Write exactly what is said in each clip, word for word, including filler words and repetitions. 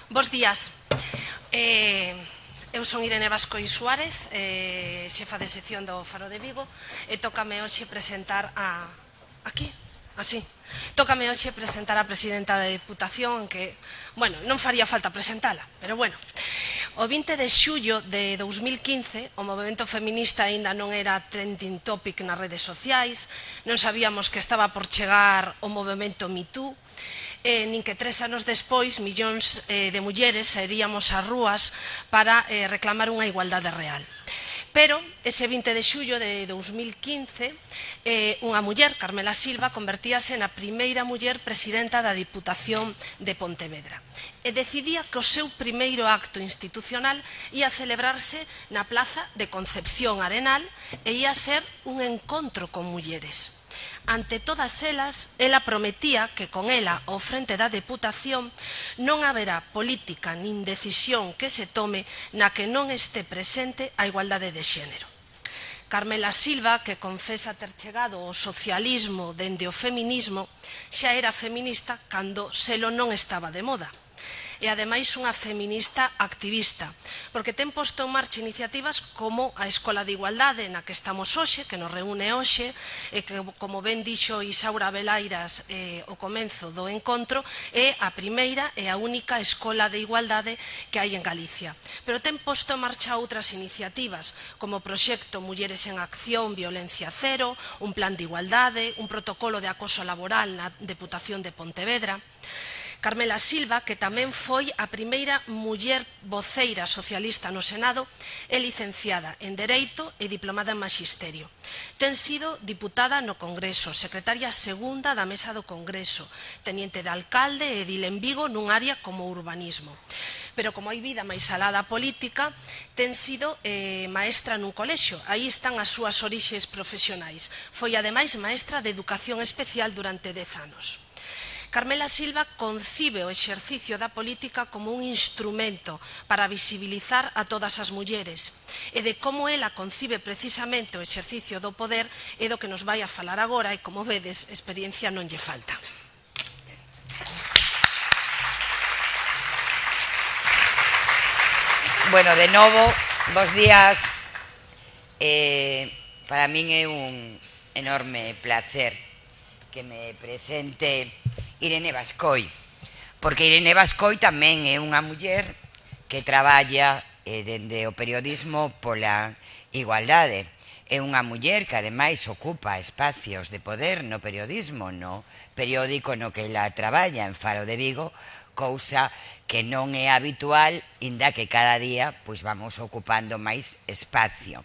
Bos días. Eh, eu son Irene Bascoi Suárez, eh, xefa de sección do Faro de Vigo, e tócame hoxe presentar a... aquí? Así. Tócame hoxe presentar a presidenta da Deputación, que, bueno, non faría falta presentala, pero bueno. O vinte de xullo de dous mil quince, o movemento feminista aínda non era trending topic nas redes sociais, non sabíamos que estaba por chegar o movemento Me Too, Eh, nin que tres anos despois millóns eh, de mulleres saíríamos ás rúas para eh, reclamar unha igualdade real. Pero ese vinte de xullo de dous mil quince, eh, unha muller, Carmela Silva, convertíase na primeira muller presidenta da Diputación de Pontevedra e decidía que o seu primeiro acto institucional ia celebrarse na Plaza de Concepción Arenal e ia ser un encontro con mulleres. Ante todas elas, ela prometía que con ela ao frente da Deputación non haberá política nin decisión que se tome na que non este presente a igualdade de xénero. Carmela Silva, que confesa ter chegado ao socialismo dende o feminismo, xa era feminista cando selo non estaba de moda. E ademais unha feminista activista, porque ten posto en marcha iniciativas como a Escola de Igualdade na que estamos hoxe, que nos reúne hoxe, e que, como ben dixo Isaura Belairas eh, o comenzo do encontro, é a primeira e a única escola de igualdade que hai en Galicia. Pero ten posto en marcha outras iniciativas, como o proxecto Mulleres en Acción, Violencia Cero, un plan de igualdade, un protocolo de acoso laboral na Deputación de Pontevedra. Carmela Silva, que tamén foi a primeira muller voceira socialista no Senado, é licenciada en Dereito e diplomada en Maxisterio. Ten sido diputada no Congreso, secretaria segunda da Mesa do Congreso, teniente de alcalde e edil en Vigo nun área como urbanismo. Pero como hai vida máis alá da política, ten sido eh, maestra nun colexio. Aí están as súas orixes profesionais. Foi ademais maestra de Educación Especial durante dez anos. Carmela Silva concibe o exercicio da política como un instrumento para visibilizar a todas as mulleres e de como ela concibe precisamente o exercicio do poder é do que nos vai a falar agora e, como vedes, experiencia non lle falta. Bueno, de novo, bos días. Eh, para min é un enorme placer que me presente Irene Bascoi, porque Irene Bascoi tamén é unha muller que traballa eh, dende o periodismo pola igualdade. É unha muller que ademais ocupa espacios de poder no periodismo, no periódico no que ela traballa, en Faro de Vigo, cousa que non é habitual, inda que cada día pois vamos ocupando máis espacio.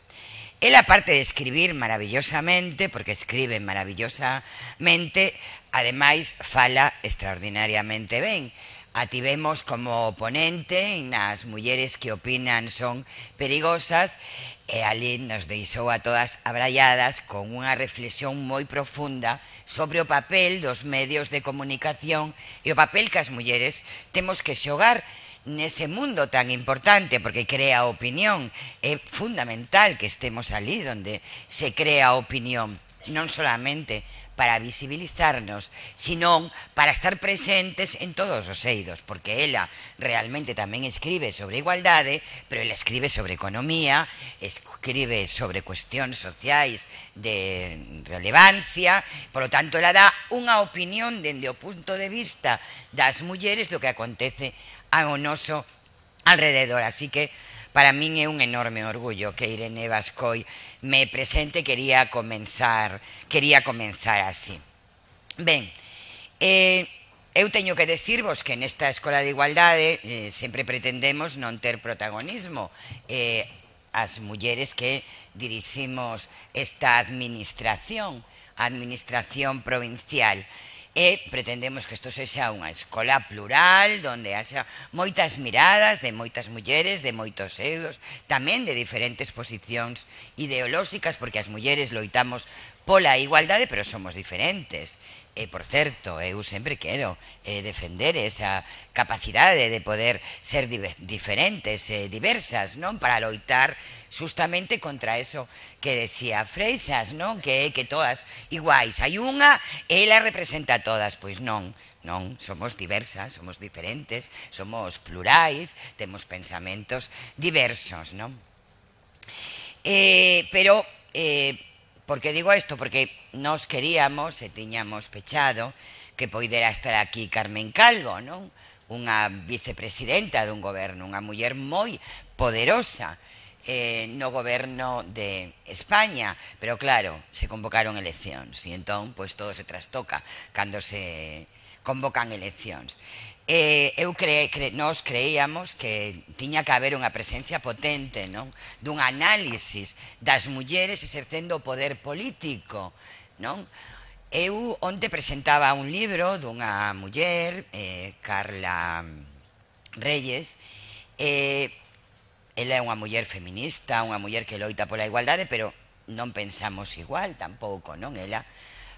Ela, aparte de escribir maravillosamente, porque escribe maravillosamente, ademais fala extraordinariamente ben. A tivemos como ponente nas mulleres que opinan son perigosas e ali nos deixou a todas abralladas con unha reflexión moi profunda sobre o papel dos medios de comunicación e o papel que as mulleres temos que xogar nese mundo tan importante, porque crea opinión. É fundamental que estemos ali donde se crea opinión, non solamente para visibilizarnos, sino para estar presentes en todos os eidos, porque ela realmente tamén escribe sobre igualdade, pero ela escribe sobre economía, escribe sobre cuestións sociais de relevancia, por lo tanto, ela dá unha opinión dende o punto de vista das mulleres do que acontece ao noso alrededor. Así que para min é un enorme orgullo que Irene Bascoi me presente. Quería comenzar, quería comenzar así. Ben, eh, eu teño que decirvos que nesta Escola de Igualdade eh, sempre pretendemos non ter protagonismo. Eh, as mulleres que diriximos esta administración, a administración provincial, e pretendemos que isto sexa unha escola plural, donde haxa moitas miradas de moitas mulleres, de moitos eidos, tamén de diferentes posicións ideolóxicas, porque as mulleres loitamos pola igualdade, pero somos diferentes. E, por certo, eu sempre quero eh, defender esa capacidade de poder ser diferentes e eh, diversas, non? Para loitar justamente contra eso que decía Freixas, non? Que é que todas iguais. Hai unha, ela representa a todas. Pois non, non, somos diversas, somos diferentes, somos plurais, temos pensamentos diversos, non? Eh, pero... Eh, Por que digo isto? Porque nos queríamos e tiñamos pechado que poidera estar aquí Carmen Calvo, non? Unha vicepresidenta dun goberno, unha muller moi poderosa eh, no goberno de España, pero claro, se convocaron eleccións e entón pois todo se trastoca cando se convocan eleccións. Eh, eu cre, cre, nos creíamos que tiña que haber unha presencia potente, non? Dun análisis das mulleres exercendo o poder político, non? Eu onte presentaba un libro dunha muller, eh, Carla Reyes, eh, ela é unha muller feminista, unha muller que loita pola igualdade, pero non pensamos igual tampouco, non? Ela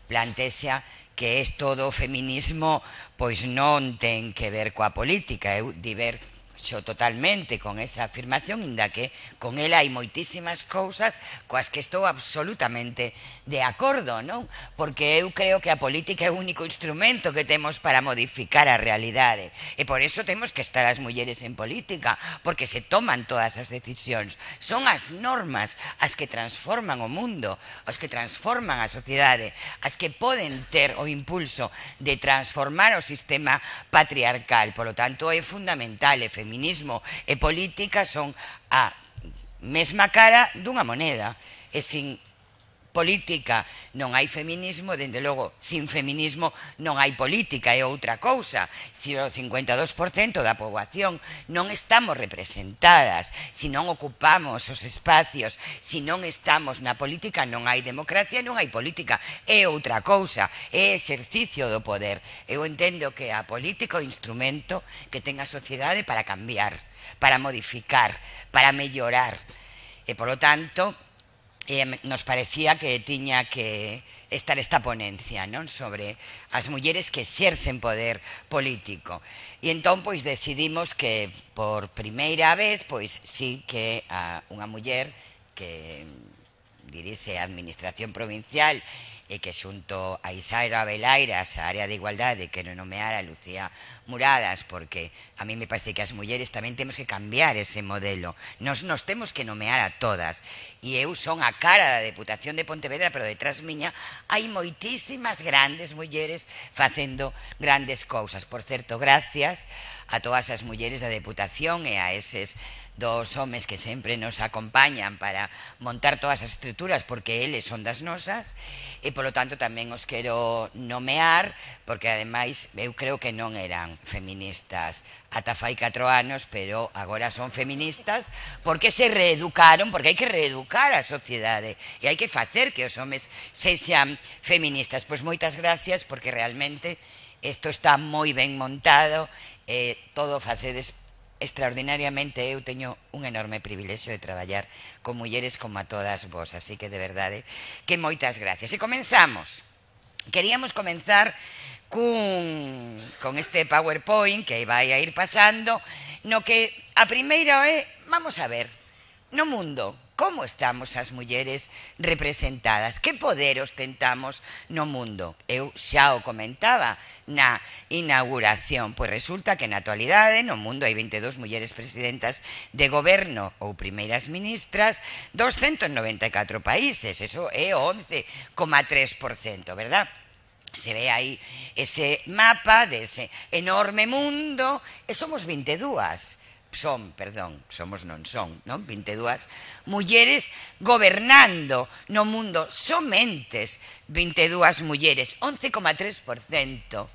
plantexa que isto do feminismo pois non ten que ver coa política. Eu diverxo totalmente con esa afirmación, inda que con ela hai moitísimas cousas coas que estou absolutamente de acordo, non? Porque eu creo que a política é o único instrumento que temos para modificar a realidade, e por eso temos que estar as mulleres en política, porque se toman todas as decisións, son as normas as que transforman o mundo, as que transforman a sociedade, as que poden ter o impulso de transformar o sistema patriarcal. Por lo tanto, é fundamental, e feminismo e política son a mesma cara dunha moneda, e sin política non hai feminismo, dende logo, sin feminismo non hai política, é outra cousa. O cincuenta e dous por cento da poboación non estamos representadas. Se non ocupamos os espacios, se non estamos na política, non hai democracia, non hai política. É outra cousa, é exercicio do poder. Eu entendo que a política é o instrumento que ten a sociedade para cambiar, para modificar, para mellorar. E, polo tanto, Eh, nos parecía que tiña que estar esta ponencia, non? Sobre as mulleres que exercen poder político. E entón, pois, decidimos que por primeira vez, pois, sí que a unha muller que dirixe a administración provincial e que xunto a Isaira Belairas, a área de igualdade, quero nomear a Lucía Muradas, porque a mí me parece que as mulleres tamén temos que cambiar ese modelo. Nos, nos temos que nomear a todas. E eu son a cara da Deputación de Pontevedra, pero detrás miña hai moitísimas grandes mulleres facendo grandes cousas. Por certo, gracias a todas as mulleres da Deputación e a eses dos homes que sempre nos acompañan para montar todas as estruturas, porque eles son das nosas, e polo tanto tamén os quero nomear, porque ademais eu creo que non eran feministas ata fai catro anos, pero agora son feministas porque se reeducaron, porque hai que reeducar a sociedade e hai que facer que os homes sexan feministas. Pois moitas gracias, porque realmente isto está moi ben montado, e todo facedes extraordinariamente. Eu teño un enorme privilexio de traballar con mulleres como a todas vos, así que de verdade que moitas gracias. E comenzamos. Queríamos comenzar cun, con este PowerPoint que vai a ir pasando, no que a primeira é, vamos a ver, no mundo, como estamos as mulleres representadas? Que poder ostentamos no mundo? Eu xa o comentaba na inauguración, pois resulta que na actualidade no mundo hai vinte e dúas mulleres presidentas de goberno ou primeiras ministras dos ciento noventa e catro países, eso é o once coma tres por cento, verdad? Se ve aí ese mapa dese enorme mundo, e somos vinte e dúas. Son, perdón, somos non son, non? vinte e dúas mulleres gobernando no mundo, somentes vinte e dúas mulleres, once coma tres por cento.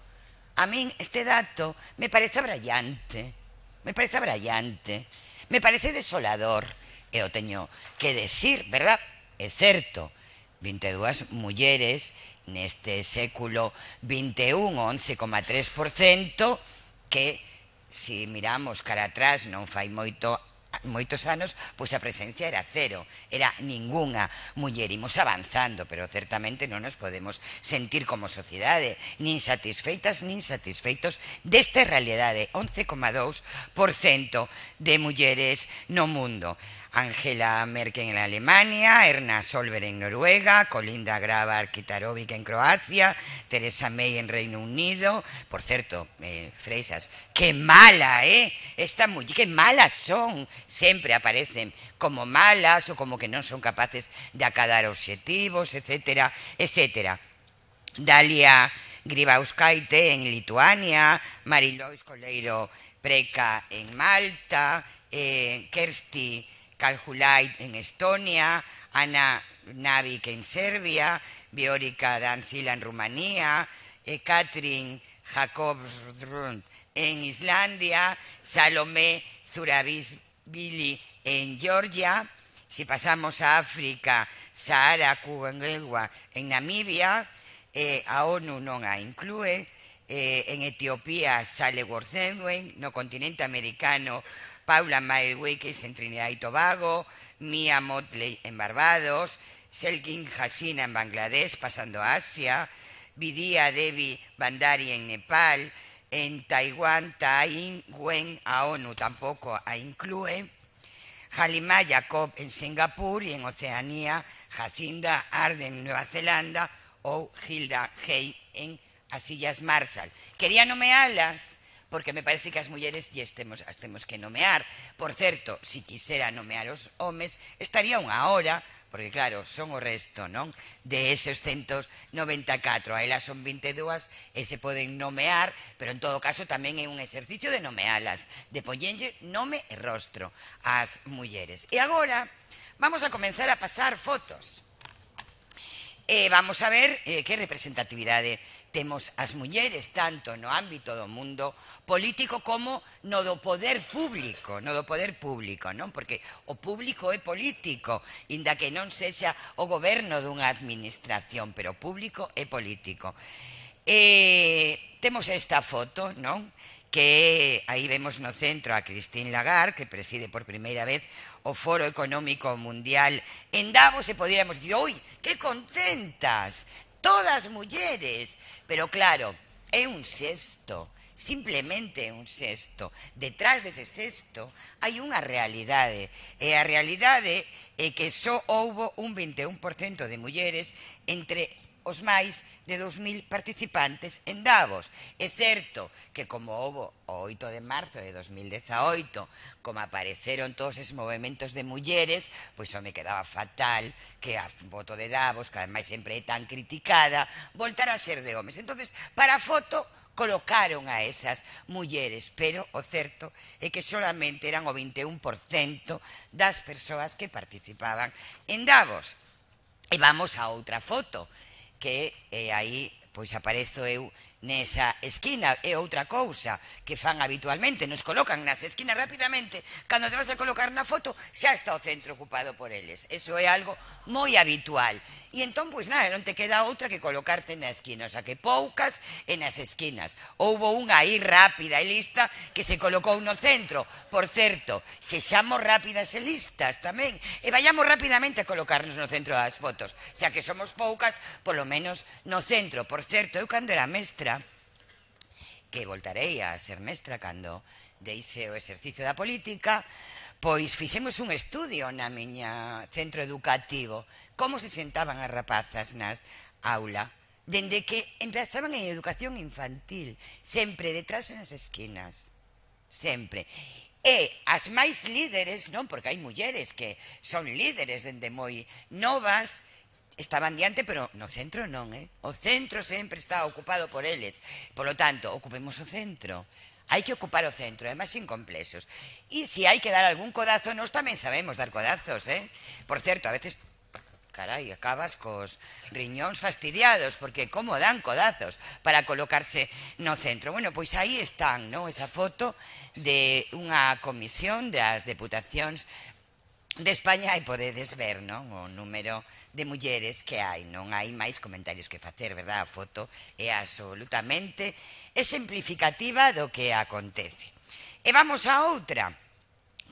A min este dato me parece brillante, me parece brillante, me parece desolador, e o teño que decir, verdad? É certo, vinte e dúas mulleres neste século vinte e un, once coma tres por cento, que se miramos cara atrás non fai moito moitos anos, pois a presencia era cero, era ningunha muller. Imos avanzando, pero certamente non nos podemos sentir como sociedade nin satisfeitas nin satisfeitos desta realidade. Once coma dous por cento de mulleres no mundo. Angela Merkel en Alemania, Erna Solberg en Noruega, Kolinda Grabar-Kitarovic en Croacia, Theresa May en Reino Unido. Por certo, eh, Freixas, que mala, eh? Esta muller, que malas son. Sempre aparecen como malas ou como que non son capaces de acadar obxectivos, etcétera, etcétera. Dalia Grybauskaite en Lituania, Marilois Coleiro Preca en Malta, eh, Kersti Kaljulaid en Estonia, Ana Navik en Serbia, Viorica Dancila en Rumanía, eh, Katrin Jakobsrud en Islandia, Salomé Zurabishvili en Georgia. Si pasamos a África, Sahara Kuengegwa en Namibia, eh, a ONU non a inclúe, eh, en Etiopía Sale Worthengwen, no continente americano Paula Maelwekes en Trinidad y Tobago, Mia Motley en Barbados, Selkin Hasina en Bangladesh, pasando a Asia, Vidya Devi Bandari en Nepal, en Taiwán, Tai Wen a ONU tampoco a incluye, Halima Jacob en Singapur y en Oceanía, Jacinda Arden en Nueva Zelanda o Hilda Hey en as Illas Marshall. Quería nomealas porque me parece que as mulleres lle temos, as temos que nomear. Por certo, si quisera nomear os homes, estaría unha hora, porque claro, son o resto, non? De eses ciento noventa e catro, a elas son vinte e dúas e se poden nomear, pero en todo caso tamén é un exercicio de nomealas, de poñenlle nome e rostro ás mulleres. E agora vamos a comenzar a pasar fotos. E vamos a ver eh, que representatividade temos as mulleres tanto no ámbito do mundo político como no do poder público, no do poder público, non? Porque o público é político, inda que non sexa o goberno dunha administración, pero o público é político. E temos esta foto, non? Que aí vemos no centro a Christine Lagarde, que preside por primeira vez o Foro Económico Mundial en Davos, e poderíamos dicir, oi, que contentas! Todas mulleres, pero claro, é un sexto, simplemente un sexto. Detrás dese sexto hai unha realidade, e a realidade é que só houbo un vinte e un por cento de mulleres entre os máis de dous mil participantes en Davos. É certo que como houbo o oito de marzo de dos mil dezaoito, como apareceron todos esos movimentos de mulleres, pois só me quedaba fatal que a foto de Davos, que ademais sempre é tan criticada, voltara a ser de homes. Entonces, para a foto colocaron a esas mulleres, pero o certo é que solamente eran o vinte e un por cento das persoas que participaban en Davos. E vamos a outra foto, que eh, aí pois aparezo eu nesa esquina. É outra cousa que fan habitualmente, nos colocan nas esquinas rapidamente. Cando te vas a colocar na foto, xa está o centro ocupado por eles. Eso é algo moi habitual. E entón, pois nada, non te queda outra que colocarte na esquina. O sea, que poucas e nas esquinas. Houbo unha aí rápida e lista que se colocou no centro. Por certo, sexamos rápidas e listas tamén. E vayamos rapidamente a colocarnos no centro das fotos. Xa que somos poucas, polo menos no centro. Por certo, eu cando era mestra, que voltarei a ser mestra cando deixe o exercicio da política, pois fixemos un estudio na miña centro educativo, como se sentaban as rapazas nas aula, dende que empezaban en educación infantil, sempre detrás nas esquinas, sempre. E as máis líderes, non? Porque hai mulleres que son líderes dende moi novas, estaban diante, pero no centro non, eh? O centro sempre está ocupado por eles. Por lo tanto, ocupemos o centro. Hai que ocupar o centro, además sin complexos. E se hai que dar algún codazo, nós tamén sabemos dar codazos, eh? Por certo, a veces, carai, acabas cos riñóns fastidiados, porque como dan codazos para colocarse no centro. Bueno, pois aí están, non? Esa foto de unha comisión das deputacións de España, e podedes ver, non? O número de mulleres que hai. Non hai máis comentarios que facer, verdad? A foto é absolutamente exemplificativa do que acontece. E vamos a outra.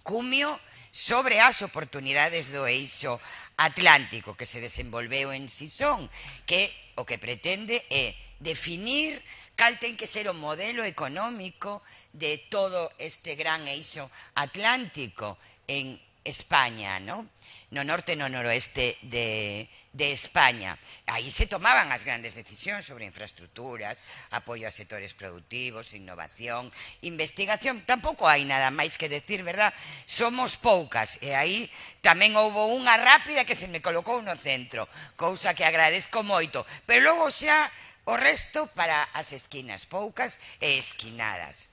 Cumio sobre as oportunidades do eixo atlántico que se desenvolveu en Sison, que o que pretende é definir cal ten que ser o modelo económico de todo este gran eixo atlántico en España, ¿no? No norte e no noroeste de, de España. Aí se tomaban as grandes decisións sobre infraestructuras, apoio a sectores productivos, innovación, investigación. Tampouco hai nada máis que decir, verdad? Somos poucas, e aí tamén houbo unha rápida que se me colocou no centro, cousa que agradezco moito. Pero logo xa o resto para as esquinas, poucas e esquinadas.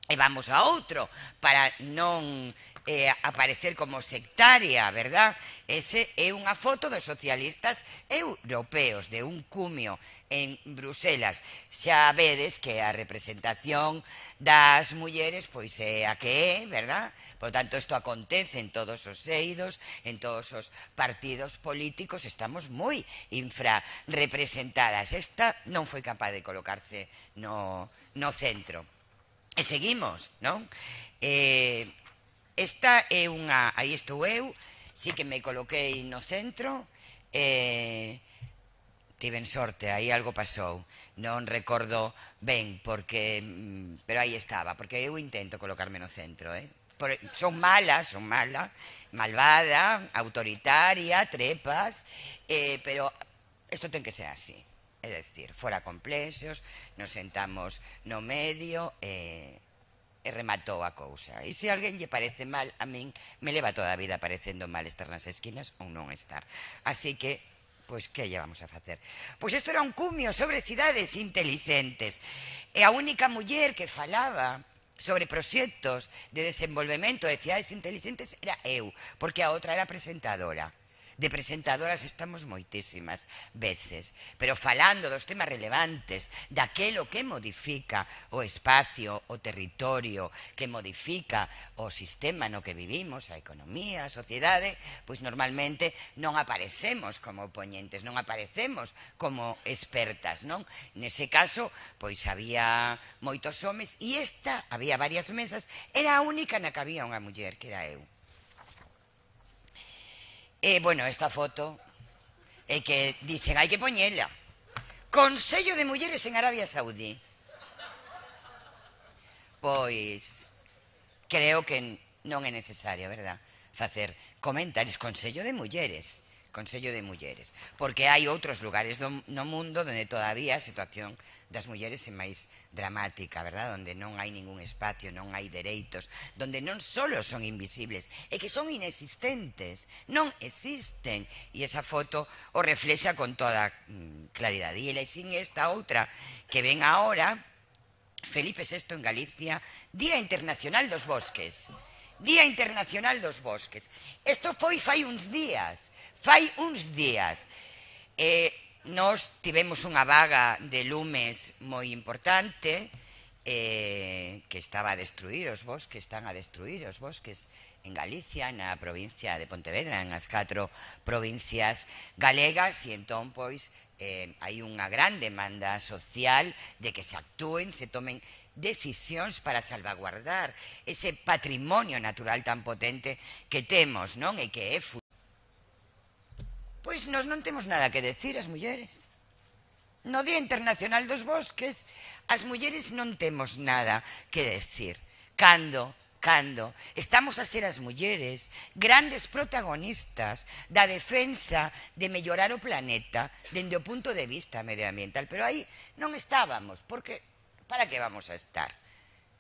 E vamos a outro, para non eh, aparecer como sectaria, verdad? Ese é unha foto dos socialistas europeos, de un cumio en Bruselas. Xa vedes que a representación das mulleres pois é a que é, verdad? Por tanto, isto acontece en todos os eidos, en todos os partidos políticos, estamos moi infrarrepresentadas. Esta non foi capaz de colocarse no, no centro. E seguimos, non? Eh, esta é unha... Aí estou eu, sí que me coloquei no centro, eh, tiven sorte, aí algo pasou. Non recordo ben, porque... Pero aí estaba, porque eu intento colocarme no centro, eh? Por, son mala, son mala, malvada, autoritaria, trepas, eh, pero isto ten que ser así. É dicir, fora complexos, nos sentamos no medio e, e rematou a cousa. E se alguén lle parece mal, a min me leva toda a vida parecendo mal estar nas esquinas ou non estar. Así que, pois, que lle vamos a facer? Pois isto era un cumio sobre cidades inteligentes. E a única muller que falaba sobre proxectos de desenvolvemento de cidades inteligentes era eu, porque a outra era presentadora. De presentadoras estamos moitísimas veces, pero falando dos temas relevantes, daquelo que modifica o espacio, o territorio, que modifica o sistema no que vivimos, a economía, a sociedade, pois normalmente non aparecemos como poñentes, non aparecemos como expertas, non? Nese caso, pois había moitos homes e esta, había varias mesas, era a única na que había unha muller, que era eu. E, bueno, esta foto é que dicen, hai que poñela. Consello de Mulleres en Arabia Saudí. Pois, creo que non é necesario, verdad, facer comentarios. Consello de Mulleres, Consello de Mulleres. Porque hai outros lugares do, no mundo donde todavía a situación das mulleres é máis dramática, verdad? Donde non hai ningún espacio, non hai dereitos, donde non solo son invisibles, é que son inexistentes, non existen. E esa foto o reflexa con toda claridade. E sin esta outra que ven ahora, Felipe sexto en Galicia, Día Internacional dos Bosques. Día Internacional dos Bosques. Isto foi fai uns días, fai uns días. E nos tivemos unha vaga de lumes moi importante, eh, que estaba a destruir os bosques, están a destruir os bosques en Galicia, na provincia de Pontevedra, en as catro provincias galegas, e entón, pois, eh, hai unha gran demanda social de que se actúen, se tomen decisións para salvaguardar ese patrimonio natural tan potente que temos, non? E que é futuro. Pois nós non temos nada que decir as mulleres. No Día Internacional dos Bosques, as mulleres non temos nada que decir. Cando, cando estamos a ser as mulleres grandes protagonistas da defensa de mellorar o planeta dende o punto de vista medioambiental. Pero aí non estábamos, porque para que vamos a estar?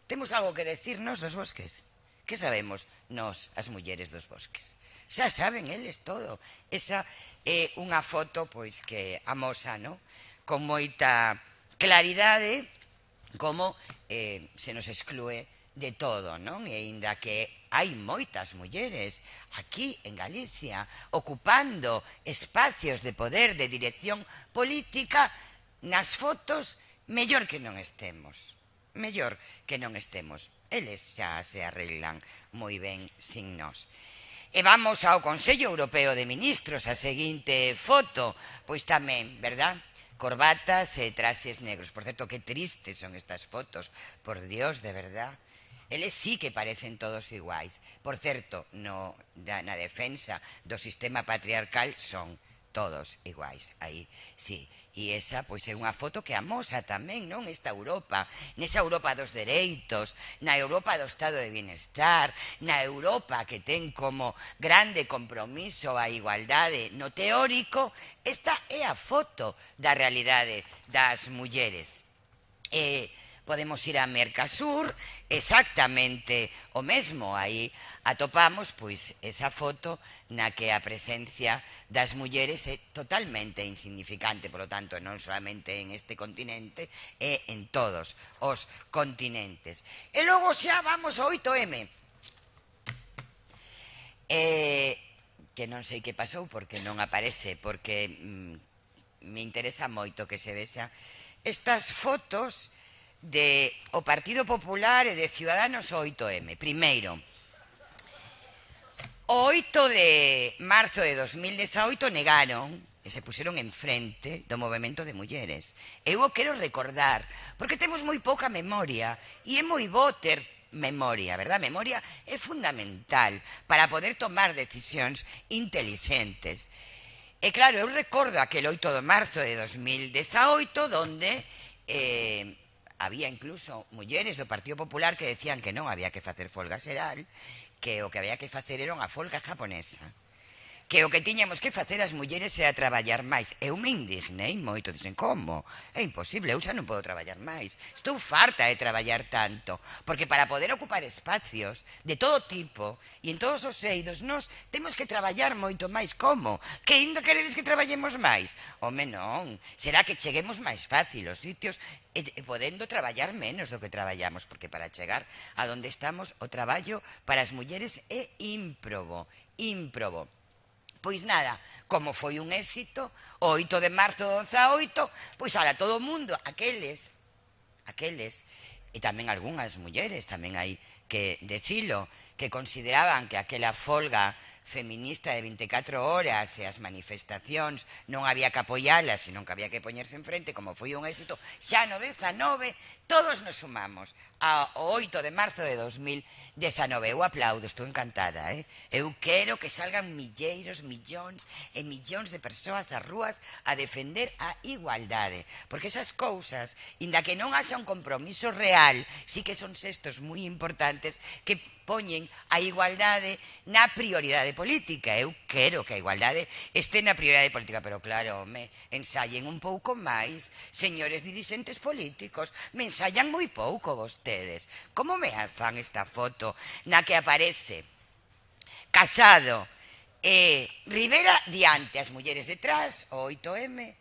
Temos algo que decirnos dos bosques? Que sabemos nós, as mulleres dos bosques? Xa saben eles todo. Esa é unha foto pois que amosa, no? Con moita claridade como eh, se nos exclúe de todo, non? E ainda que hai moitas mulleres aquí en Galicia ocupando espacios de poder, de dirección política, nas fotos mellor que non estemos. Mellor que non estemos. Eles xa se arreglan moi ben sin nós. E vamos ao Consello Europeo de Ministros, a seguinte foto, pois tamén, verdad? Corbatas e traxes negros. Por certo, que tristes son estas fotos, por Dios, de verdad. Eles sí que parecen todos iguais. Por certo, no, na, na defensa do sistema patriarcal son todos iguais, aí, sí. E esa, pois, é unha foto que amosa tamén, non? Esta Europa, nesa Europa dos dereitos, na Europa do estado de bienestar, na Europa que ten como grande compromiso a igualdade no teórico, esta é a foto da realidade das mulleres. E podemos ir a Mercasur, exactamente o mesmo, aí atopamos pois esa foto na que a presencia das mulleres é totalmente insignificante, polo tanto non solamente en este continente, é en todos os continentes. E logo xa vamos ao oito eme, eh, que non sei que pasou porque non aparece, porque mm, me interesa moito que se vexa estas fotos de o Partido Popular e de Ciudadanos o oito eme. Primeiro, o oito de marzo de dos mil dezaoito negaron e se puseron en frente do movemento de mulleres. Eu o quero recordar, porque temos moi pouca memoria e é moi bo ter memoria, verdad? Memoria é fundamental para poder tomar decisións intelixentes. E claro, eu recordo aquel oito de marzo de dos mil dezaoito donde eh, había incluso mulleres do Partido Popular que decían que non había que facer folga xeral, que o que había que facer era unha folga japonesa, que o que tiñamos que facer as mulleres era traballar máis. Eu me indignei moito, dicen, como? É imposible, eu xa non podo traballar máis. Estou farta de traballar tanto, porque para poder ocupar espacios de todo tipo e en todos os eidos, nós temos que traballar moito máis. Como? Que ainda queredes que traballemos máis? Home, non. Será que cheguemos máis fácil aos sitios e, e podendo traballar menos do que traballamos, porque para chegar a donde estamos, o traballo para as mulleres é ímprobo, ímprobo. Pois nada, como foi un éxito, o oito de marzo do dezaoito, pois ahora todo o mundo, aqueles, aqueles, e tamén algunhas mulleres, tamén hai que decilo, que consideraban que aquela folga feminista de vinte e catro horas e as manifestacións non había que apoialas, senón que había que poñerse en frente, como foi un éxito, xa no dezanove, todos nos sumamos ao oito de marzo de dos mil dezanove. Eu aplaudo, estou encantada, eh? Eu quero que salgan milleiros, millóns e millóns de persoas ás rúas a defender a igualdade, porque esas cousas, inda que non haxa un compromiso real, sí que son xestos moi importantes que poñen a igualdade na prioridade política. Eu quero que a igualdade este na prioridade política, pero claro, me ensayen un pouco máis, señores dirixentes políticos, me ensayan moi pouco vostedes. Como me fan esta foto na que aparece Casado e Rivera diante, as mulleres detrás, o oito eme,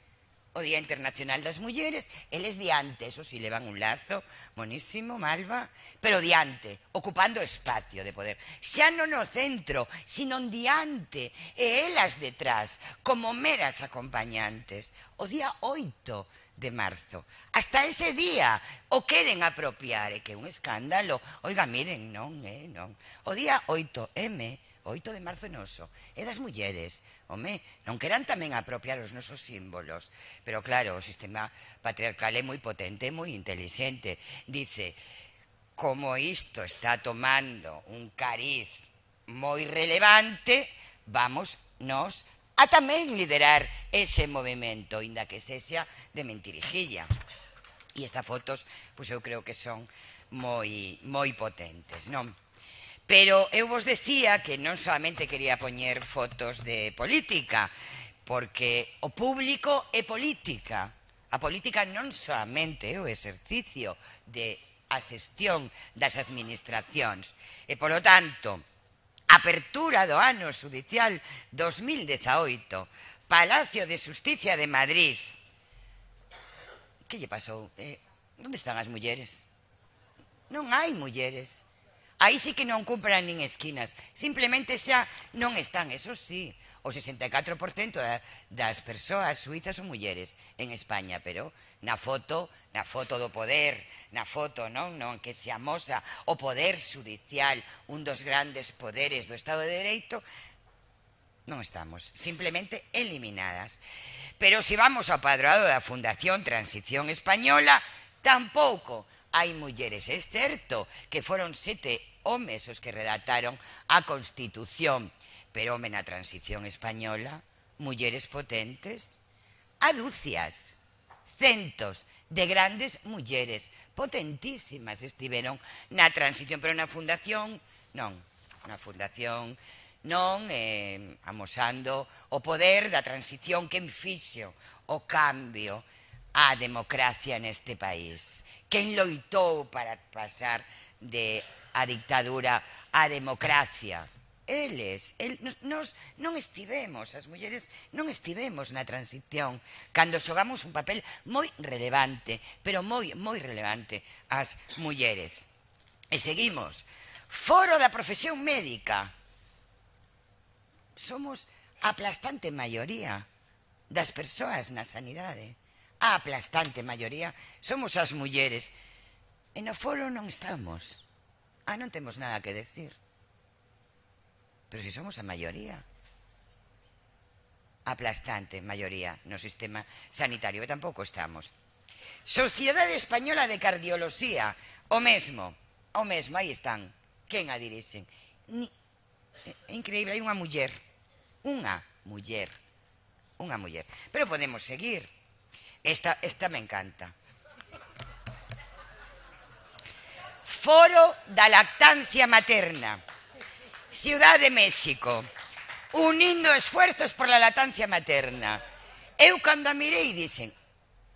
o Día Internacional das Mulleres, eles diante, eso si, levan un lazo monísimo, malva, pero diante, ocupando espacio de poder. Xa non no centro, sino diante, e elas detrás, como meras acompañantes. O día oito de marzo, hasta ese día, o queren apropiar, e que é un escándalo. Oiga, miren, non, eh, non. O día oito eme, oito de marzo noso, é das mulleres. Home, non queran tamén apropiar os nosos símbolos. Pero claro, o sistema patriarcal é moi potente, moi intelixente. Dice, como isto está tomando un cariz moi relevante, vamos nos a tamén liderar ese movimento, inda que sexa de mentirijilla. E estas fotos, pois eu creo que son moi, moi potentes, non? Pero eu vos decía que non solamente quería poñer fotos de política, porque o público é política. A política non solamente é o exercicio de a xestión das administracións. E, polo tanto, apertura do ano xudicial dos mil dezaoito, Palacio de Xusticia de Madrid. Que lle pasou? Eh, onde están as mulleres? Non hai mulleres. Aí sí que non cumpran nin esquinas, simplemente xa non están. Eso sí, o sesenta e catro por cento das persoas suizas son mulleres en España, pero na foto, na foto do poder, na foto, non, non que se amosa o poder xudicial, un dos grandes poderes do Estado de Dereito, non estamos, simplemente eliminadas. Pero se vamos ao padroado da Fundación Transición Española, tampouco hai mulleres. É certo que foron sete homes os que redactaron a Constitución, pero, home, na transición española, mulleres potentes, a dúcias, centos de grandes mulleres potentísimas estiveron na transición, pero na fundación non, na fundación non, eh, amosando o poder da transición que fixo o cambio á democracia neste país, quen loitou para pasar de a dictadura á democracia. Eles, el, nos, nos non estivemos, as mulleres non estivemos na transición, cando xogamos un papel moi relevante, pero moi, moi relevante, as mulleres. E seguimos. Foro da profesión médica. Somos a aplastante maioría das persoas na sanidade. A aplastante maioría somos as mulleres. E no foro non estamos. Ah, non temos nada que decir. Pero si somos a maioría, aplastante maioría no sistema sanitario, e tampouco estamos. Sociedade Española de Cardioloxía, o mesmo, o mesmo, aí están. Quen a dirixen? Ni, é increíble, hai unha muller, unha muller, unha muller. Pero podemos seguir. Esta, esta me encanta. Foro da lactancia materna. Ciudad de México, unindo esfuerzos por la lactancia materna. Eu cando a mirei dixen,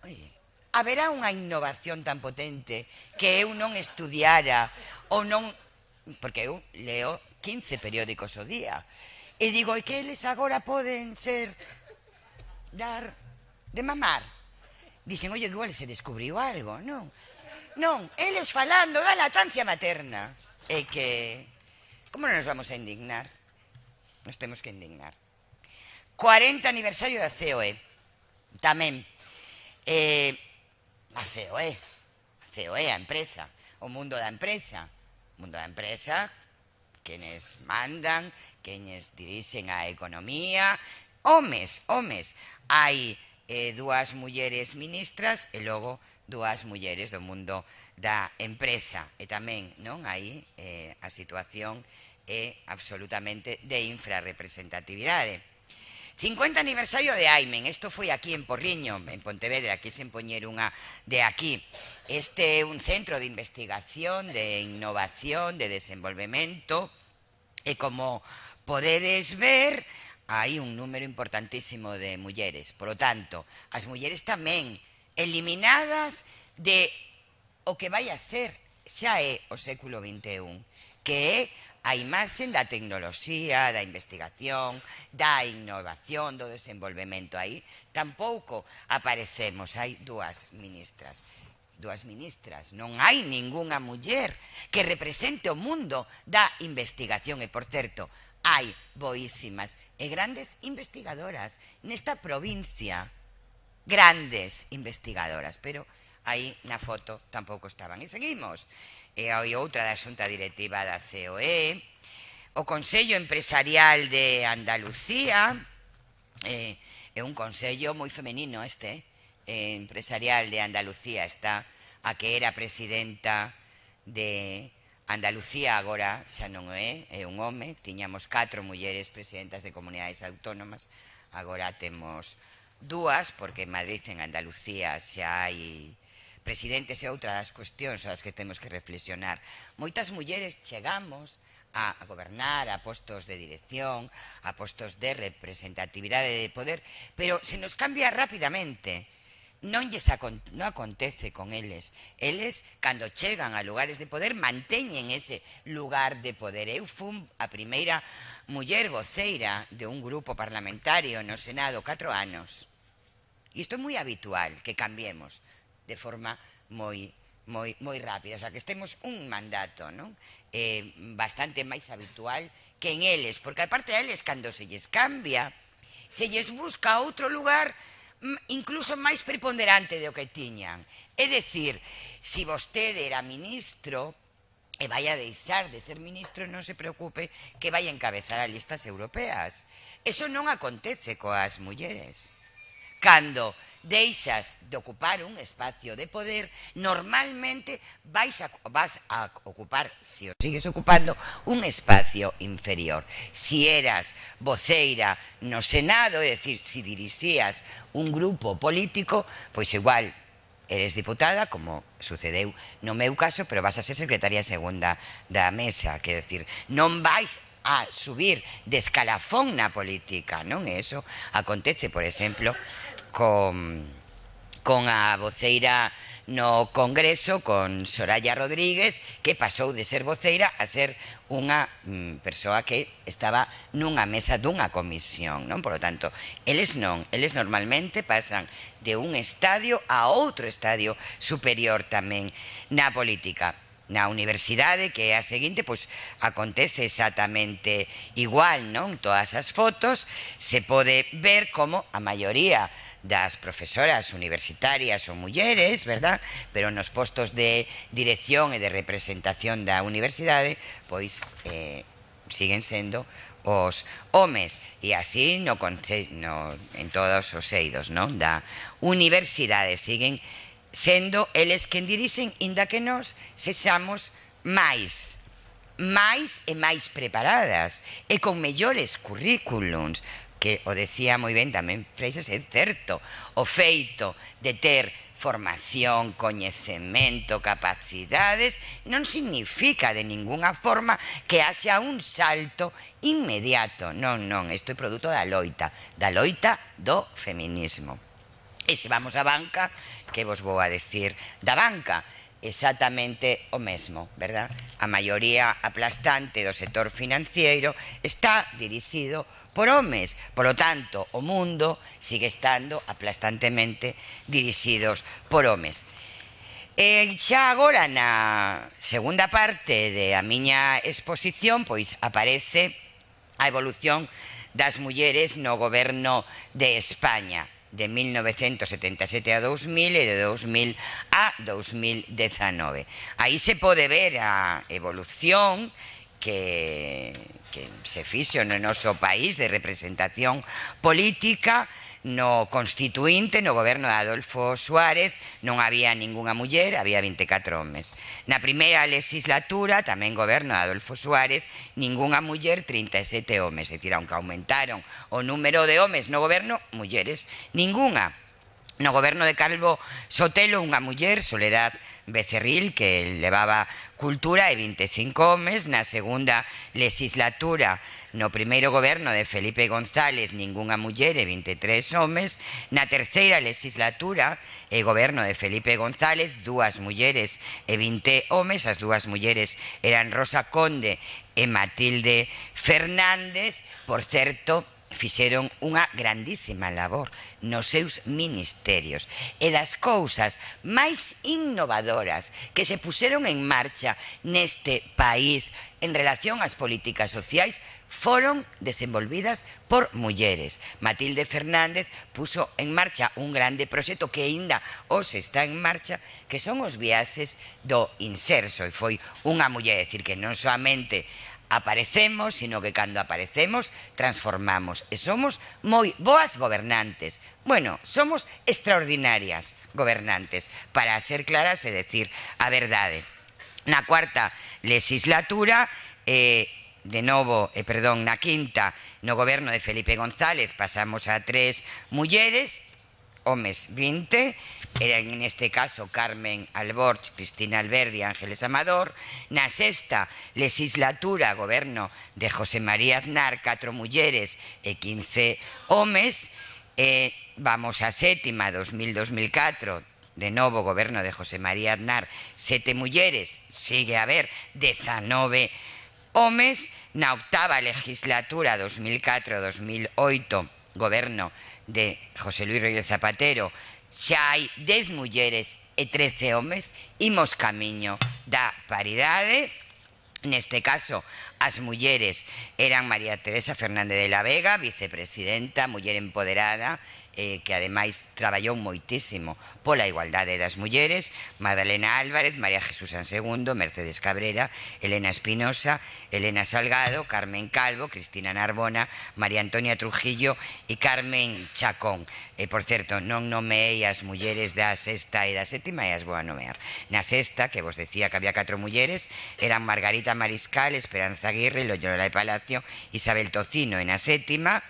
oye, haberá unha innovación tan potente que eu non estudiara ou non, porque eu leo quince periódicos ao día, e digo, e que eles agora poden ser dar de mamar? Dixen, oye, igual se descubriu algo, non? Non, eles falando da lactancia materna. E que... como non nos vamos a indignar? Nos temos que indignar. cuarenta aniversario da C O E. Tamén. Eh, a C O E. A C O E, a empresa. O mundo da empresa. O mundo da empresa, quenes mandan, quenes dirixen a economía. Homes, homes. Hai eh, dúas mulleres ministras e logo dúas mulleres do mundo da empresa. E tamén, non, aí eh, a situación é absolutamente de infrarrepresentatividade. cincuenta aniversario de Aimen. Isto foi aquí en Porriño, en Pontevedra. Quixen poñer unha de aquí. Este é un centro de investigación, de innovación, de desenvolvemento, e como podedes ver, hai un número importantísimo de mulleres. Por lo tanto, as mulleres tamén eliminadas de o que vai a ser, xa é o século vinte e un, que é a imaxe da tecnoloxía, da investigación, da innovación, do desenvolvemento. Aí tampouco aparecemos, hai dúas ministras. Dúas ministras, non hai ningunha muller que represente o mundo da investigación. E, por certo, hai boísimas e grandes investigadoras nesta provincia. Grandes investigadoras, pero aí na foto tampouco estaban. E seguimos. E hai outra da xunta directiva da C O E, o Consello Empresarial de Andalucía, eh, é un consello moi femenino este, eh, empresarial de Andalucía. Está a que era presidenta de Andalucía, agora xa non é, é un home. Tiñamos catro mulleres presidentas de comunidades autónomas, agora temos dúas, porque en Madrid e en Andalucía xa hai presidentes. E outra das cuestións as que temos que reflexionar. Moitas mulleres chegamos a gobernar, a postos de dirección, a postos de representatividade de poder, pero se nos cambia rapidamente. Non lles non acontece con eles. Eles, cando chegan a lugares de poder, manteñen ese lugar de poder. Eu fui a primeira muller voceira de un grupo parlamentario no Senado catro anos. E isto é moi habitual, que cambiemos de forma moi moi moi rápida, o sea, que estemos un mandato, non? Eh, bastante máis habitual que en eles, porque aparte a eles, cando se lles cambia, se lles busca outro lugar incluso máis preponderante do que tiñan. É dicir, se vostede era ministro e vai a deixar de ser ministro, non se preocupe que vai a encabezar as listas europeas. Eso non acontece coas mulleres. Cando deixas de ocupar un espacio de poder, normalmente vais a, vas a ocupar, si o sigues ocupando, un espacio inferior. Si eras voceira no Senado, é dicir, si dirixías un grupo político, pois igual eres diputada, como sucedeu no meu caso, pero vas a ser secretaria segunda da mesa, quero dicir, non vais a subir de escalafón na política, non? E iso acontece, por exemplo, con, con a voceira no Congreso, con Soraya Rodríguez, que pasou de ser voceira a ser unha mm, persoa que estaba nunha mesa dunha comisión, non? Por lo tanto, eles non, eles normalmente pasan de un estadio a outro estadio superior tamén na política. Na universidade, que é a seguinte, pois acontece exactamente igual, non? Todas as fotos se pode ver como a maioría das profesoras universitarias son mulleres, verdad? Pero nos postos de dirección e de representación da universidade, pois eh, siguen sendo os homes, e así no, no, en todos os eidos, non? Da universidade siguen sendo eles quen dirixen, inda que nós sexamos máis máis e máis preparadas e con mellores currículums, que o decía moi ben tamén Freixas, é certo, o feito de ter formación, coñecemento, capacidades non significa de ninguna forma que haxa un salto inmediato, non, non, isto é produto da loita da loita do feminismo. E se vamos á banca, que vos vou a decir da banca? Exactamente o mesmo, verdad? A maioría aplastante do sector financiero está dirixido por homes, polo tanto, o mundo sigue estando aplastantemente dirixidos por homes. E xa agora, na segunda parte de a miña exposición, pois aparece a evolución das mulleres no goberno de España, de mil novecentos setenta e sete a dous mil e de dous mil a dous mil dezanove. Aí se pode ver a evolución que, que se fixo no noso país de representación política. No constituinte, no goberno de Adolfo Suárez, non había ningunha muller, había vinte e catro homes. Na primeira legislatura, tamén goberno de Adolfo Suárez, ningunha muller, trinta e sete homes. É dicir, aunque aumentaron o número de homes no goberno, mulleres ningunha. No goberno de Calvo Sotelo, unha muller, Soledad Becerril, que levaba cultura, e vinte e cinco homes. Na segunda legislatura, no primeiro goberno de Felipe González, ningunha muller e vinte e tres homes. Na terceira legislatura, e goberno de Felipe González, dúas mulleres e vinte homes. As dúas mulleres eran Rosa Conde e Matilde Fernández. Por certo, fixeron unha grandísima labor nos seus ministerios, e das cousas máis innovadoras que se puseron en marcha neste país en relación ás políticas sociais foron desenvolvidas por mulleres. Matilde Fernández puso en marcha un grande proxecto que aínda hoxe está en marcha, que son os viaxes do inserso, e foi unha muller, é dicir, que non soamente aparecemos, sino que cando aparecemos transformamos, e somos moi boas gobernantes. Bueno, somos extraordinarias gobernantes, para ser claras e decir a verdade. Na cuarta legislatura, eh, de novo, eh, perdón, na quinta, no goberno de Felipe González, pasamos a tres mulleres, homes vinte, eran en este caso Carmen Alborch, Cristina Alberdi e Ángeles Amador. Na sexta legislatura, goberno de José María Aznar, catro mulleres e quince homes. E vamos a sétima, dos mil a dos mil catro, de novo goberno de José María Aznar, sete mulleres, sigue a haber dezanove homes. Na octava legislatura, dos mil catro a dos mil oito, goberno de José Luis Rodríguez Zapatero, xa hai dez mulleres e trece homes. Imos camiño da paridade. Neste caso, as mulleres eran María Teresa Fernández de la Vega, vicepresidenta, muller empoderada eh, que ademais traballou moitísimo pola igualdade das mulleres, Magdalena Álvarez, María Jesús San Segundo, Mercedes Cabrera, Elena Espinosa, Elena Salgado, Carmen Calvo, Cristina Narbona, María Antonia Trujillo e Carmen Chacón. E, por certo, non nomeei as mulleres da sexta e da sétima e as vou a nomear. Na sexta, que vos decía que había catro mulleres, eran Margarita Mariscal, Esperanza Aguirre, Loyola de Palacio, Isabel Tocino. E na sétima,